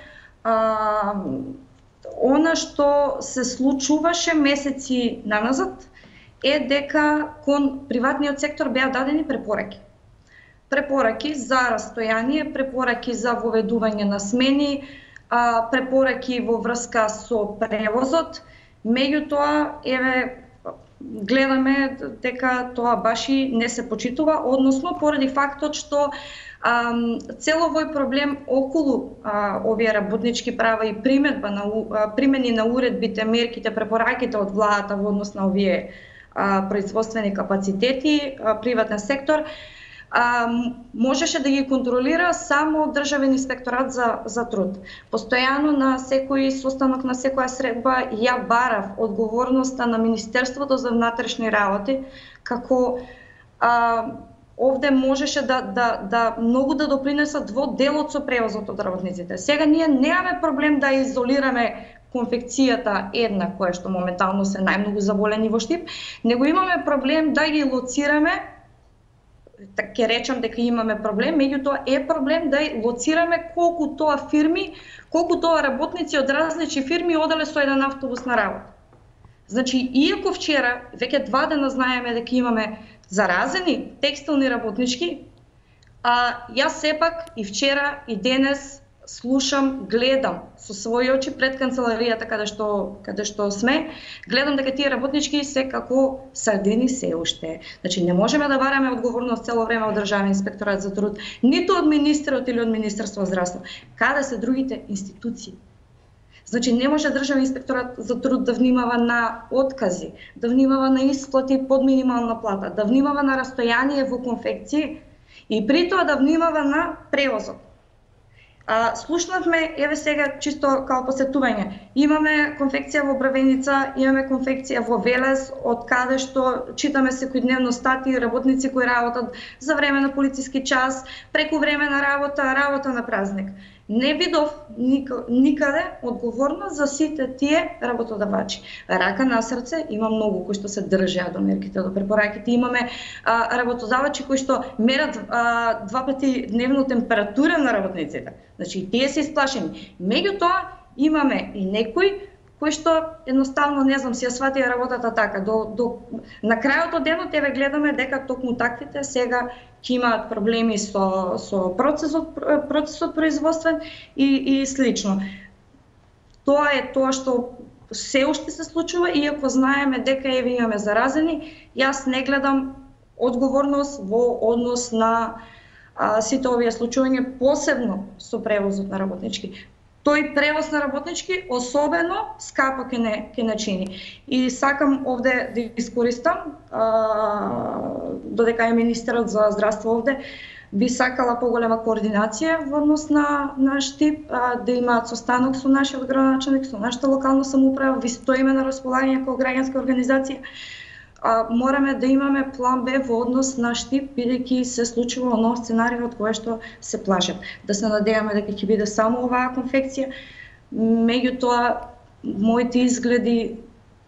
Она што се случуваше месеци наназад е дека кон приватниот сектор беа дадени препораки. Препораки за растојание, препораки за воведување на смени, препораки во врска со превозот. Меѓутоа, гледаме дека тоа баш и не се почитува, односно поради фактот што цел овој проблем околу овие работнички права и примени на уредбите, мерките, препораките од владата во однос на овие производствени капацитети, приватен сектор, можеше да ги контролира само Државен инспекторат за труд. Постојано на секој состанок, на секоја средба ја барав одговорноста на Министерството за внатрешни работи, како овде можеше да многу да допринесат во делот со превозот од работниците. Сега ние немаме проблем да изолираме конфекцијата една, која што моментално се најмногу заболени во Штип, него имаме проблем да ги лоцираме. Ќе речам дека имаме проблем, меѓутоа е проблем да лоцираме колку тоа фирми, колку тоа работници од различни фирми оделе со еден автобус на работа. Значи, иако вчера, веќе 2 дена знаеме дека имаме заразени текстилни работнички, јас сепак и вчера и денес слушам, гледам со своји очи пред канцеларијата каде што сме, гледам дека тие работнички се како сардини се уште. Значи не можеме да бараме одговорност цело време од Државен инспекторат за труд, ниту од министерот или од Министерство за здравство. Каде се другите институции? Значи не може Државен инспекторат за труд да внимава на откази, да внимава на исплати под минимална плата, да внимава на растојание во конфекции и при тоа да внимава на превозот. Слушнавме, еве сега, чисто као посетување, имаме конфекција во Бравеница, имаме конфекција во Велес, од каде што читаме секојдневно статии, работници кои работат за време на полициски час, преку време на работа на празник. Не видов никаде одговорност за сите тие работодавачи. Рака на срце, има многу кои што се држат до мерките, до препораките. Имаме работодавачи кои што мерат 2 пати дневно температура на работниците. Значи и тие се исплашени. Меѓутоа имаме и некои кои што едноставно не знам си ја сватија работата така. На крајот од денот еве гледаме дека токму таквите сега ќе имаат проблеми со процесот производствен и слично. Тоа е тоа што се уште се случува, иако знаеме дека еве имаме заразени, јас не гледам одговорност во однос на сите овие случувања, посебно со превозот на работнички. Тој превоз на работнички особено скапо ќе не чини. И сакам овде да искористам, додека е министерот за здравство овде, би сакала поголема координација во однос на Штип, да имаат состанок со нашиот градоначалник, со нашата локална самоуправа, ви стоиме на располагање како граѓанска организација. Мораме да имаме план Б во однос на Штип, бидејќи се случува оној сценариј од кој што се плашат. Да се надеваме дека ќе биде само оваа конфекција, меѓутоа моите изгледи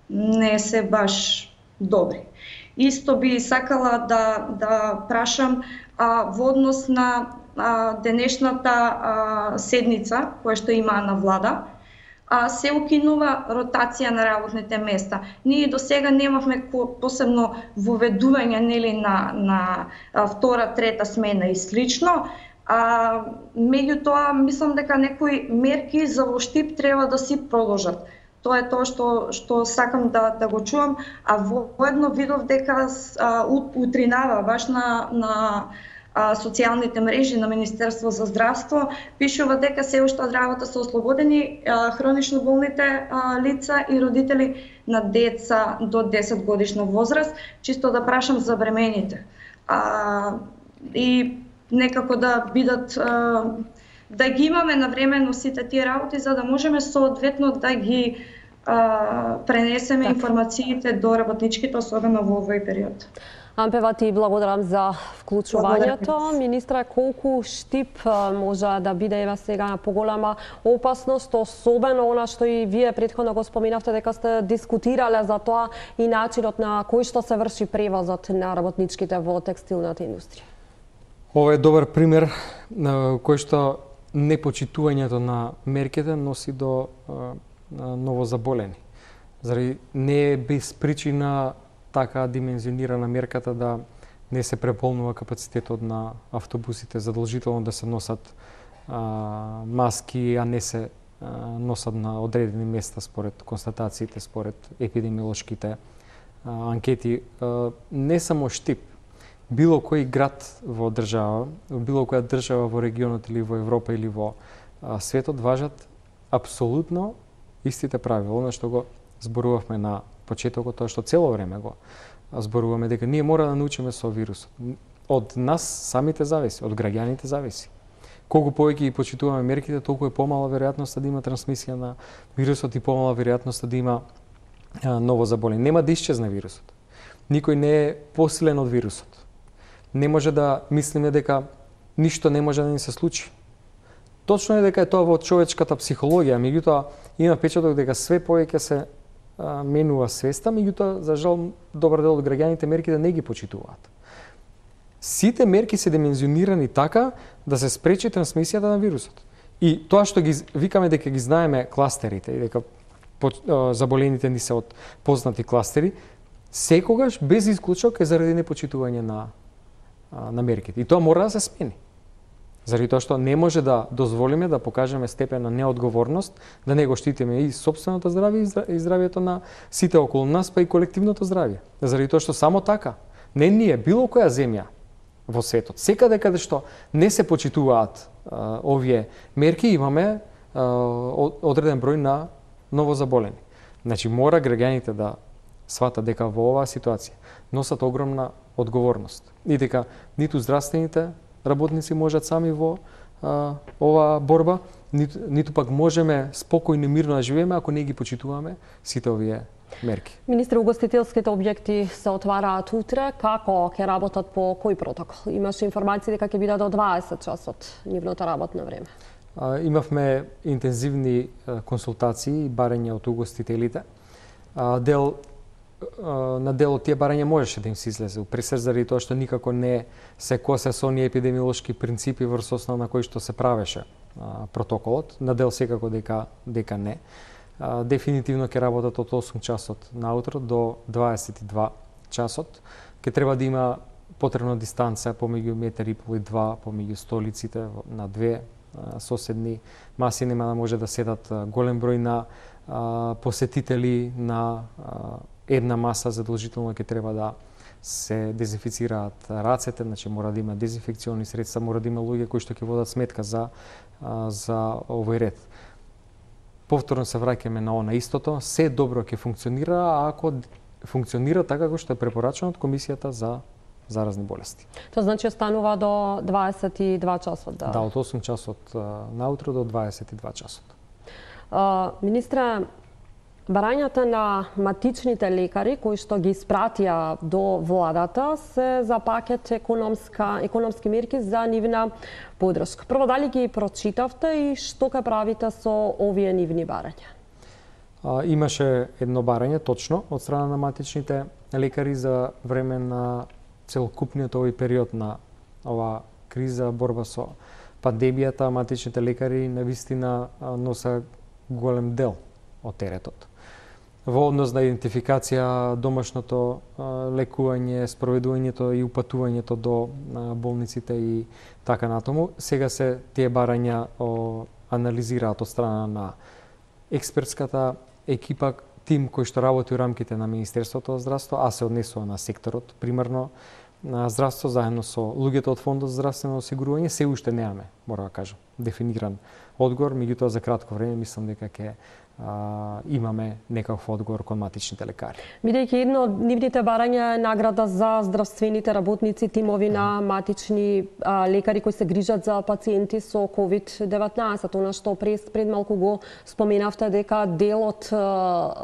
не се баш добри. Исто би сакала да прашам во однос на денешната седница која што има на влада, се укинува ротација на работните места. Ние до сега немавме посебно воведување на втора, трета смена и слично. Меѓутоа, мислам дека некои мерки за во Штип треба да си продолжат. Тоа е тоа што сакам да го чувам, воедно видов дека утринава баш на социјалните мрежи на Министерство за здравство пишува дека се уште од работа се ослободени хронично болните лица и родители на деца до 10 годишна возраст, чисто да прашам за бремените. И некако да бидат да ги имаме навремено сите тие работи за да можеме соодветно да ги пренесеме информациите до работничките, особено во овој период. Ампева, ти благодарам за вклучувањето. Министре, колку Штип може да биде ева сега поголема опасност, особено она што и вие претходно го споменавте дека сте дискутирале за тоа и начинот на кој што се врши превозот на работничките во текстилната индустрија? Ова е добар пример на кој што непочитувањето на мерките носи до новозаболени. Заради не е без причина така димензионирана мерката да не се преполнува капацитетот на автобусите, задолжително да се носат маски, а не се носат на одредени места според констатациите, според епидемиолошките анкети. Не само Штип, било кој град во држава, било која држава во регионот или во Европа или во светот важат апсолутно истите правила, она што го зборувавме на почетокот, тоа што цело време го зборуваме дека ние мора да научиме со вирусот. Од нас самите зависи, од граѓаните зависи. Колку повеќе ги почитуваме мерките, толку е помала веројатноста да има трансмисија на вирусот и помала веројатноста да има ново заболење. Нема да исчезне вирусот. Никој не е посилен од вирусот. Не може да мислиме дека ништо не може да ни се случи. Точно е дека е тоа во човечката психологија, меѓутоа има печаток дека све повеќе се менува свеста, меѓутоа за жал добар дел од граѓаните мерките не ги почитуваат. Сите мерки се димензионирани така да се спречи трансмисијата на вирусот. И тоа што ги викаме дека ги знаеме кластерите и дека заболените ни се од познати кластери, секогаш без исклучок е заради непочитување на мерките. И тоа мора да се смени. Заради тоа што не може да дозволиме да покажеме степен на неодговорност, да не го штитиме и сопственото здравје и здравјето на сите околу нас, па и колективното здравје. Заради тоа што само така, не ние, било која земја во светот, секаде каде што не се почитуваат овие мерки, имаме одреден број на новозаболени. Значи, мора граѓаните да сватат дека во оваа ситуација носат огромна одговорност и дека ниту здравствените работници можат сами во оваа борба, ниту пак можеме спокојно и мирно да живееме ако не ги почитуваме сите овие мерки. Министре, угостителските објекти се отвараат утре. Како ќе работат по кој протокол? Имаше информации дека ќе биде до 20 часот нивното работно време. Имавме интензивни консултации и барања од угостителите. На дел од тие барања можеше да им се излезе пресер заради тоа што никако не се косе со оние епидемиолошки принципи врз основа на кои што се правеше протоколот. На дел секако дека не. Дефинитивно ќе работат од 8 часот наутро до 22 часот. Ќе треба да има потребна дистанца помеѓу 1,5 и 2 помеѓу столиците на две соседни маси, нема да може да седат голем број на посетители на една маса, задолжително ќе треба да се дезинфицираат рацете, значи мора да има дезинфекциони средства, мора да има луѓе кои што ќе водат сметка за овој ред. Повторно се враќаме на она истото, се добро ќе функционира ако функционира така како што е препорачано од Комисијата за заразни болести. Тоа значи останува до 22 часот, да? Да, од 8 часот наутро до 22 часот. Министре, барањата на матичните лекари кои што ги испратија до владата се за пакет економски мерки за нивна поддршка. Прво, дали ги прочитавте и што ќе правите со овие нивни барања? Имаше едно барање, точно, од страна на матичните лекари за време на целокупниот овој период на ова криза, борба со пандемијата. Матичните лекари навистина носа голем дел од теретот. Во однос на идентификација, домашното лекување, спроведувањето и упатувањето до болниците и така натаму. Сега се тие барања анализираат од страна на експертската екипа, тим кој што работи во рамките на Министерството за здравство, а се однесува на секторот примарно на здравство, заедно со луѓето од Фондот за здравствено осигурување. Се уште немаме, мора да кажам, дефиниран одговор, меѓутоа за кратко време мислам дека ќе имаме некаков одговор кон матичните лекари. Бидејќи едно од нивните барања е награда за здравствените работници, тимови на матични лекари кои се грижат за пациенти со COVID-19, она што пред малку го споменавте дека дел од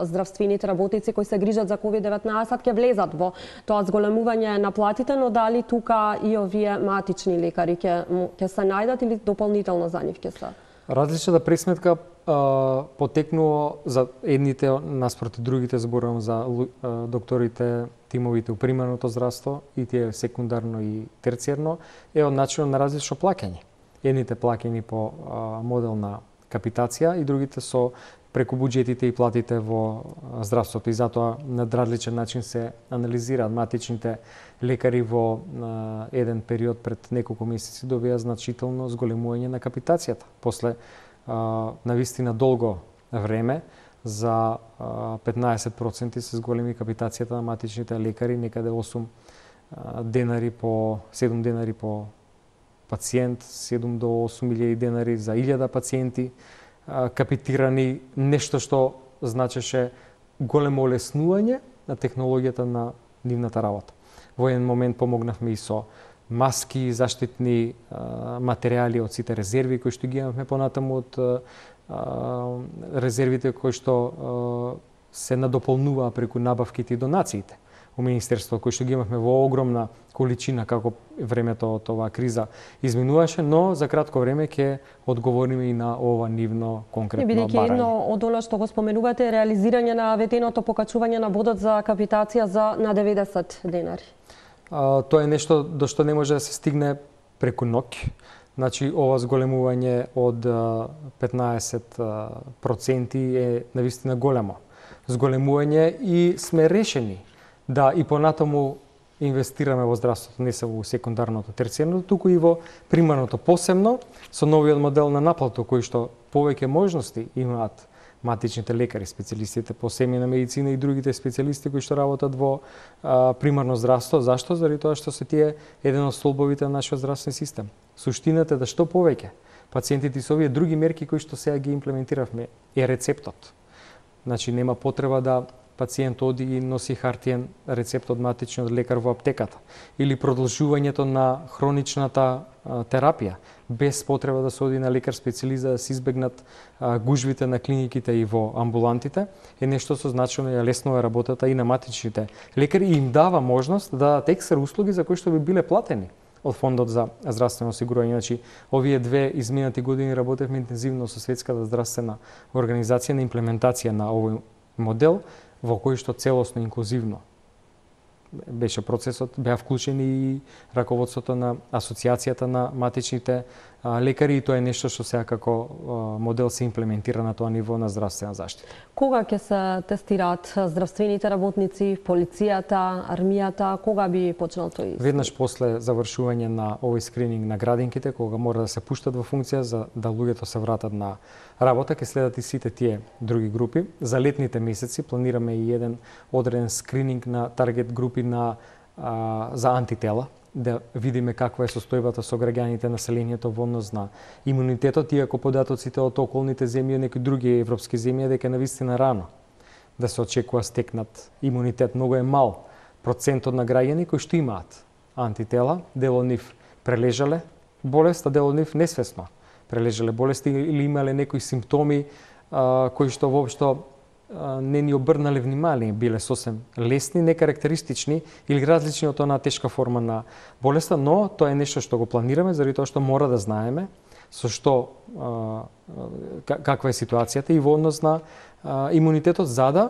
здравствените работници кои се грижат за COVID-19 ќе влезат во тоа зголемување на платите, но дали тука и овие матични лекари ќе се најдат или дополнително за нив ќе се? Различната пресметка потекнува за едните наспроти другите, зборувам за докторите, тимовите у примарното здравство и тие секундарно и терцијерно, е од начинот на различно плаќање. Едните плаќани по модел на капитација и другите со преку буџетите и платите во здравството, и затоа на различен начин се анализираат. Матичните лекари во еден период пред неколку месеци добија значително зголемување на капитацијата. После навистина долго време, за 15% се зголеми капитацијата на матичните лекари, некаде 7 денари по пациент, 7 до 8.000 денари за 1000 пациенти капитирани, нешто што значеше големо олеснување на технологијата на нивната работа. Во еден момент помогнавме и со маски, заштитни материјали од сите резерви кои што ги имавме понатаму од резервите кои што се надополнуваа преку набавките и донациите у Министерството, кои што ги имавме во огромна количина како времето од оваа криза изминуваше, но за кратко време ќе одговориме и на ова нивно конкретно барање. Бидејќи едно од она што го споменувате е реализирање на ветеното покачување на бодот за капитација на 90 денари. Тоа е нешто до што не може да се стигне преку ноќ. Значи, ова зголемување од 15% е навистина големо зголемување и сме решени да и понатаму инвестираме во здравството, не само во секундарното, терцијарното, туку и во примарното, посебно со новиот модел на наплата, кој што повеќе можности имаат матичните лекари, специјалистите по семејна медицина и другите специјалисти кои што работат во примарно здравство. Зашто? Заради тоа што се тие еден од столбовите на нашиот здравствен систем. Суштината е да што повеќе пациентите со овие други мерки кои што сега ги имплементиравме е рецептот. Значи нема потреба да пациент оди и носи хартиен рецепт од матичниот лекар во аптеката или продолжувањето на хроничната терапија без потреба да се оди на лекар специјалист да се избегнат гужвите на клиниките и во амбулантите е нешто со значено ја леснува работата и на матичните лекари и им дава можност да дадат екстра услуги за кои што би биле платени од Фондот за здравствено осигурување. Значи, овие две изминати години работевме интензивно со Светската здравствена организација на имплементација на овој модел во кој што целосно инклузивно беше процесот, беа вклучени и раководството на Асоциацијата на матичните лекари и тоа е нешто што сега како модел се имплементира на тоа ниво на здравствена заштита. Кога ќе се тестираат здравствените работници, полицијата, армијата, кога би почнал тој? Веднаш после завршување на овој скрининг на градинките, кога мора да се пуштат во функција за да луѓето се вратат на работа, ќе следат и сите тие други групи. За летните месеци планираме и еден одреден скрининг на таргет групи за антитела, да видиме каква е состојбата со граѓаните, населението во однос на имунитетот, иако податоците од околните земји и некои други европски земји дека навистина рано да се очекува стекнат имунитет. Многу е мал процентот на граѓани кои што имаат антитела, дел од нив прележале болест, а дел од нив несвесно прележале болести или имале некои симптоми кои што воопшто не ни обрнале внимание, биле сосем лесни, некарактеристични или различни од онаа тешка форма на болеста, но тоа е нешто што го планираме, заради тоа што мора да знаеме со што каква е ситуацијата и во однос на имунитетот, за да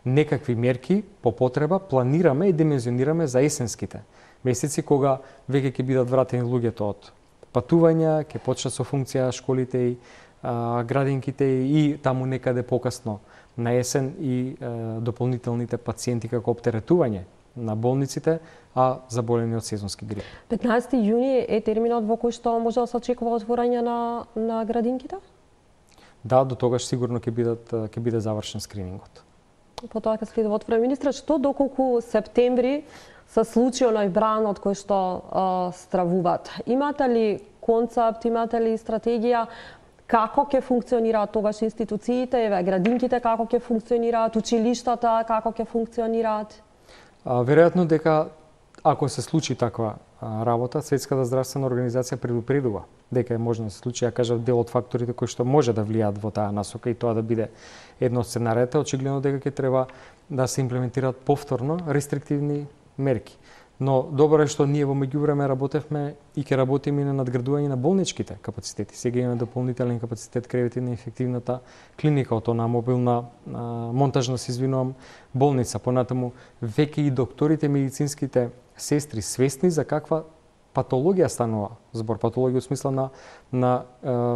некакви мерки по потреба планираме и димензионираме за есенските месеци кога веќе ќе бидат вратени луѓето од патувања, ќе почнат со функција школите и градинките и таму некаде покасно на есен и дополнителните пациенти како оптеретување на болниците, а заболени од сезонски грип. 15 јуни е терминот во кој што може да се очекува отворање на градинките? Да, до тогаш сигурно ќе биде завршен скринингот. Потоа ќе следува отворање. Министре, што доколку септември се случи оној бранот кој што стравуваат? Имате ли концепт, имате ли стратегија како ќе функционираат тогаш институциите, градинките како ќе функционираат, училиштата како ќе функционираат? Веројатно дека ако се случи таква работа, Светската здравствена организација предупредува дека е можно да се случи, ја кажав, дел од факторите кои што може да влијаат во таа насока и тоа да биде едно од сценариите, очигледно дека ќе треба да се имплементираат повторно рестриктивни мерки. Но добро е што ние во меѓувреме работевме и ќе работиме и на надградување на болничките капацитети. Сега имаме дополнителен капацитет кревети на инфективната клиника, од она мобилна монтажна, се извинувам, болница. Понатаму веќе и докторите, медицинските сестри свесни за каква патологија станува збор, патологија во смисла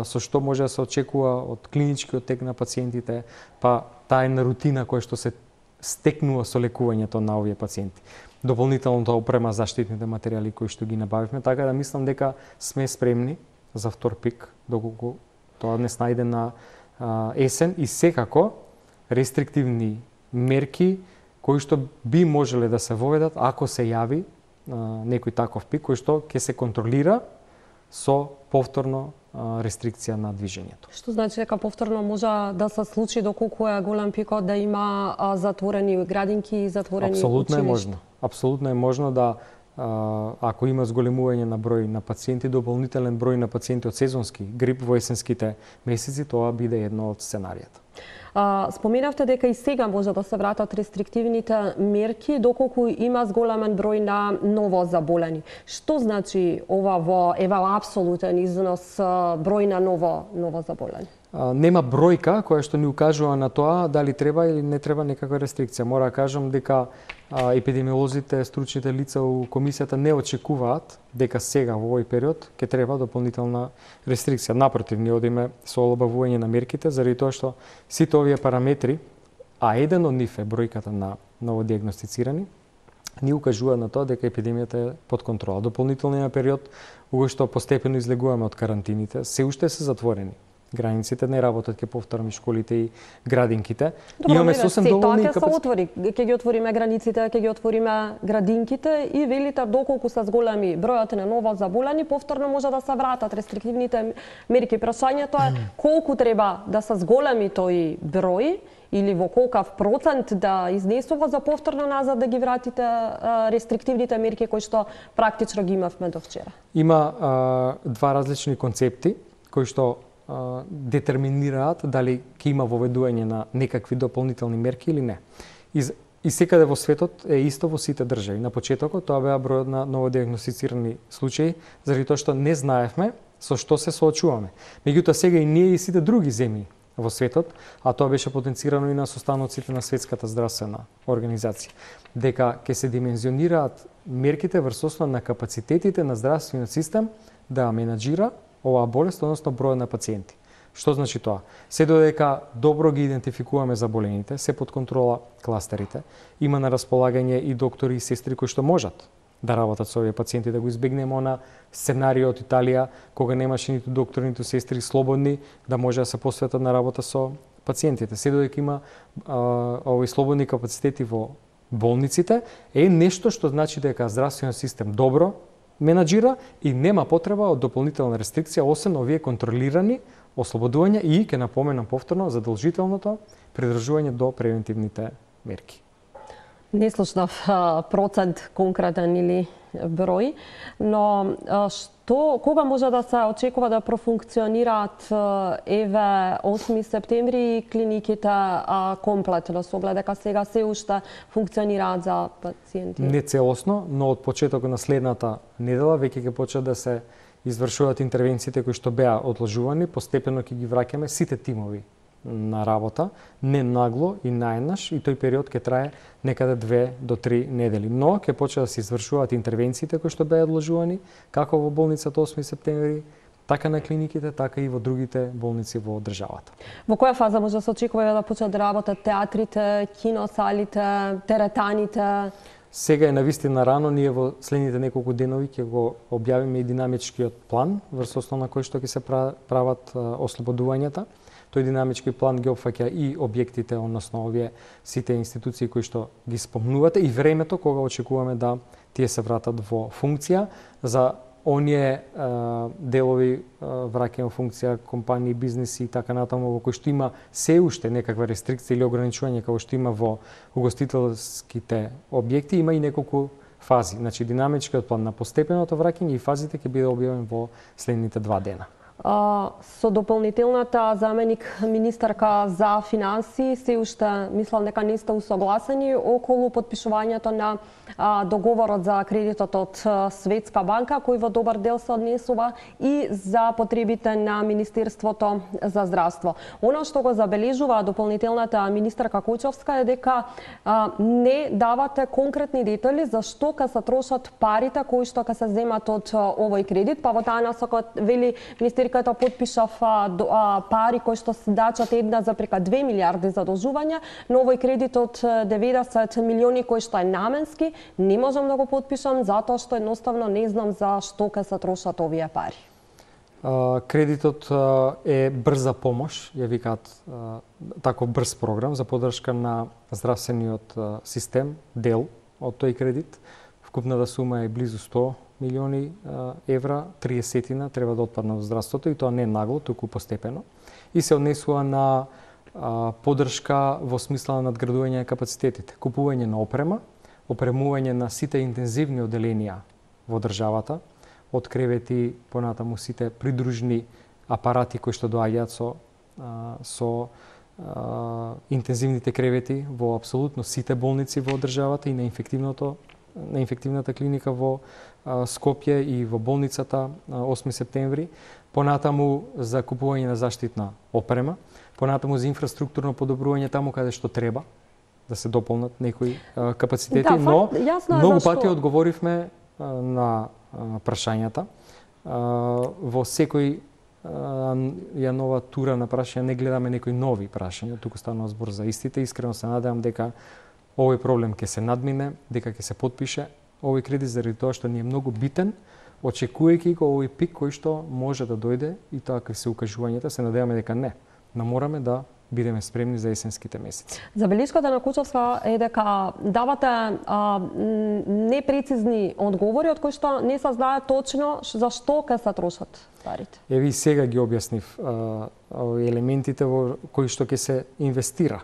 со што може да се очекува од клиничкиот тек на пациентите, па таа една рутина која што се стекнува со лекувањето на овие пациенти. Дополнителната опрема, заштитните материјали кои што ги набавивме, така да мислам дека сме спремни за втор пик, доколку тоа не најде на есен и секако рестриктивни мерки кои што би можеле да се воведат ако се јави некој таков пик кој што ќе се контролира со повторно рестрикција на движењето. Што значи дека повторно може да се случи доколку е голем пикот да има затворени градинки и затворени Апсолутно училишта? е можно. Апсолутно е можно да ако има зголемување на број на пациенти, дополнителен број на пациенти од сезонски грип во есенските месеци, тоа биде едно од сценаријата. Споменавте дека и сега може да се вратат рестриктивните мерки доколку има зголемен број на ново заболени. Што значи ова во апсолутен износ број на ново заболени? Нема бројка која што ни укажува на тоа дали треба или не треба некаква рестрикција. Мора да кажам дека епидемиолозите, стручните лица у комисијата не очекуваат дека сега во овој период ќе треба дополнителна рестрикција. Напротив, ние одиме со олабавување на мерките заради тоа што сите овие параметри, а еден од нив е бројката на новодиагностицирани, ни укажува на тоа дека епидемијата е под контрола. Дополнителниот период кога што постепено излегуваме од карантините, се уште се затворени. Границите не работат, ќе повторам, и школите и градинките. Имаме сосем доволни капацитети. Ќе ги отвориме границите, ќе ги отвориме градинките и велите доколку се зголеми бројот на ново заболени, повторно може да се вратат рестриктивните мерки. Прашањето е колку треба да се зголеми тој број или во колкав процент да изнесува за повторно назад да ги вратите рестриктивните мерки кои што практично ги имавме до вчера. Има два различни концепти кои што детерминираат дали ќе има воведување на некакви дополнителни мерки или не. И секаде во светот е исто во сите држави. На почетокот тоа беа бројот на новодиагностицирани случаи, заради тоа што не знаевме со што се соочуваме. Меѓутоа сега и ние и сите други земји во светот, а тоа беше потенцирано и на состаноците на Светската здравствена организација, дека ќе се димензионираат мерките врз основа на капацитетите на здравствениот систем да менаџира оваа болест, односно бројот на пациенти. Што значи тоа? Се додека добро ги идентификуваме заболените, се под контрола кластерите, има на располагање и доктори и сестри кои што можат да работат со овие пациенти, да го избегнеме она сценарио од Италија, кога немаше ниту доктори, ниту сестри слободни, да може да се посветат на работа со пациентите. Се додека има овој слободни капацитети во болниците, е нешто што значи дека здравствениот систем добро менаџира и нема потреба од дополнителна рестрикција, освен овие контролирани ослободувања и, ќе напоменам повторно, задолжителното придржување до превентивните мерки. Не слушнав процент конкретен или број, но кога може да се очекува да профункционираат еве 8 септември клиниките комплетно, со оглед дека сега се уште функционираат за пациенти? Не целосно, но од почетокот на следната недела веќе ќе почнат да се извршуваат интервенциите кои што беа одложувани, постепено ќе ги враќаме сите тимови на работа, не нагло и наеднаш, и тој период ќе трае некаде 2 до 3 недели. Но ќе почне да се извршуваат интервенциите кои што беа одложувани, како во болницата 8 септември, така на клиниките, така и во другите болници во државата. Во која фаза може да се очекува да почнат да работат театрите, киносалите, теретаните? Сега е навистина рано, ние во следните неколку денови ќе го објавиме и динамичкиот план врз основа на кој што ќе се прават ослободувањата. Тој динамички план ги опфаќа и објектите, односно овие сите институции кои што ги спомнувате и времето кога очекуваме да тие се вратат во функција. За оние делови враќање во функција компании, бизнеси и така натаму во кои што има се уште некаква рестрикција или ограничување како што има во угостителските објекти, има и неколку фази. Значи динамичкиот план на постепеното враќање и фазите ќе биде објавен во следните 2 дена. Со дополнителната заменик министарка за финансии се уште мислам дека не сте усогласени околу подпишувањето на договорот за кредитот од Светска банка, кој во добар дел се однесува и за потребите на Министерството за здравство. Она што го забележува дополнителната министарка Којчовска е дека не давате конкретни детали за што ќе се трошат парите кои што ќе се земат од овој кредит, па во таа насока вели министерката потпишав пари кои што се дачат 1,2 милиарди задолжувања, но овој кредит од 90 милиони кој што е наменски, не можам да го потпишам затоа што едноставно не знам за што ќе се трошат овие пари. Кредитот е брза помош, ја викаат таков брз програм за поддршка на здравствениот систем, дел од тој кредит. Вкупната сума е близу 100 милиони евра, 30 треба да отпаднат во здравството и тоа не нагло, туку постепено. И се однесува на поддршка во смисла на надградување на капацитетите, купување на опрема, опремување на сите интензивни оделенија во државата, од кревети понатаму сите придружни апарати кои што доаѓаат со интензивните кревети во апсолутно сите болници во државата и на инфективната клиника во Скопје и во болницата 8 септември, понатаму за купување на заштитна опрема, понатаму за инфраструктурно подобрување таму каде што треба да се дополнат некои капацитети, Да, но многу зашто... пати одговоривме на прашањата. Во секој ја нова тура на прашања не гледаме некои нови прашања, туку станува збор за истите. Искрено се надевам дека овој проблем ќе се надмине, дека ќе се потпише овој кредит заради тоа што ни е многу битен, очекувајќи го овој пик кој што може да дојде и тоа како се укажувањата, се надеваме дека не. Но мораме да бидеме спремни за есенските месеци. Забелишката на Кучевска е дека давате непрецизни одговори од кои што не се знае точно за што ќе се трошат парите. Еви сега ги објаснив елементите во кои што ќе се инвестира.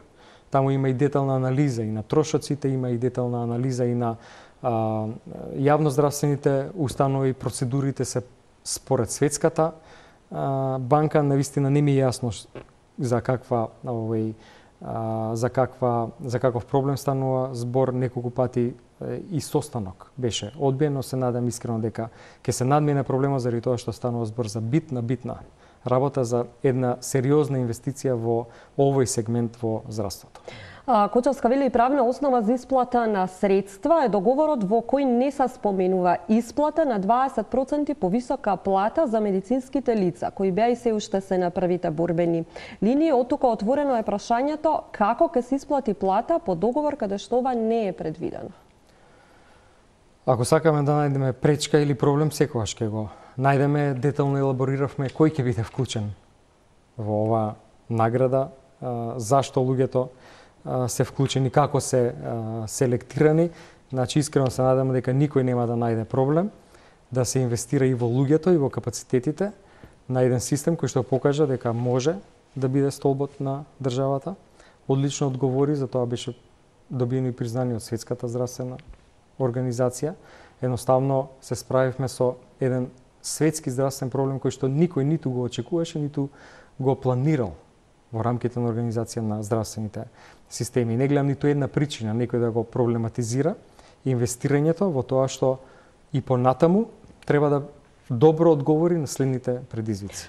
Таму има и детална анализа и на трошоците, има и детална анализа и на јавноздравствените установи, процедурите се според Светската банка. Навистина не ми е јасно за каков проблем станува збор. Неколку пати и состанок беше одбиен, но се надам искрено дека ќе се надмине проблема заради тоа што станува збор за битна работа, за една сериозна инвестиција во овој сегмент во здравството. Кочевска вели и правна основа за исплата на средства е договорот во кој не се споменува исплата на 20% повисока плата за медицинските лица, кои беа и се уште се на првите борбени линии. Оттука отворено е прашањето како ќе се исплати плата по договор каде што ова не е предвидено. Ако сакаме да најдеме пречка или проблем, секогаш ќе го најдеме. Детално елабориравме кој ќе биде вклучен во ова награда, зашто луѓето се вклучени, како се селектирани. Значи, искрено се надам дека никој нема да најде проблем да се инвестира и во луѓето и во капацитетите на еден систем кој што покажа дека може да биде столбот на државата. Одлично одговори, за тоа беше добиено и признание од Светската здравствена организација. Едноставно се справивме со еден светски здравствен проблем кој што никој ниту го очекуваше, ниту го планирал во рамките на организација на здравствените системи. Не гледам ниту една причина некој да го проблематизира инвестирањето во тоа што и понатаму треба да добро одговори на следните предизвици.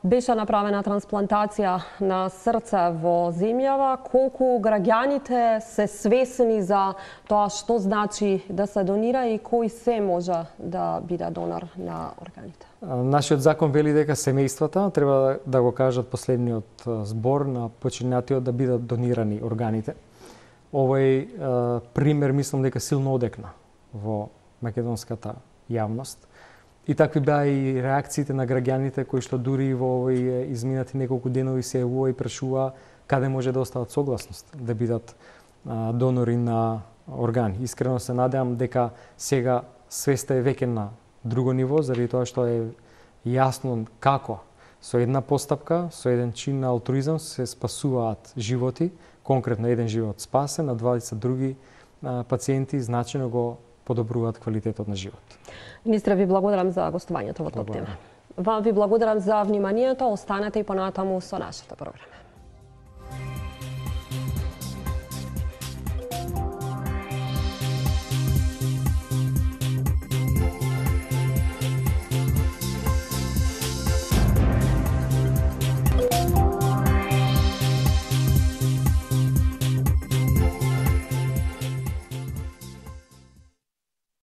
Беше направена трансплантација на срце во земјава. Колку граѓаните се свесни за тоа што значи да се донира и кој се може да биде донор на органите? Нашиот закон вели дека семејствата треба да го кажат последниот збор на починатиот да бидат донирани органите. Овој пример мислам дека силно одекна во македонската јавност. И такви беа и реакциите на граѓаните кои што дури во овој изминати неколку денови се јавува и прашува каде може да остават согласност да бидат донори на органи. Искрено се надевам дека сега свеста е веќе на друго ниво, заради тоа што е јасно како со една постапка, со еден чин на алтруизам се спасуваат животи, конкретно еден живот спасен, а 20 други пациенти значајно го подобруваат квалитетот на живот. Министре, ви благодарам за гостувањето во Топ тема. Вам ви благодарам за вниманието, останете и понатаму со нашата програма.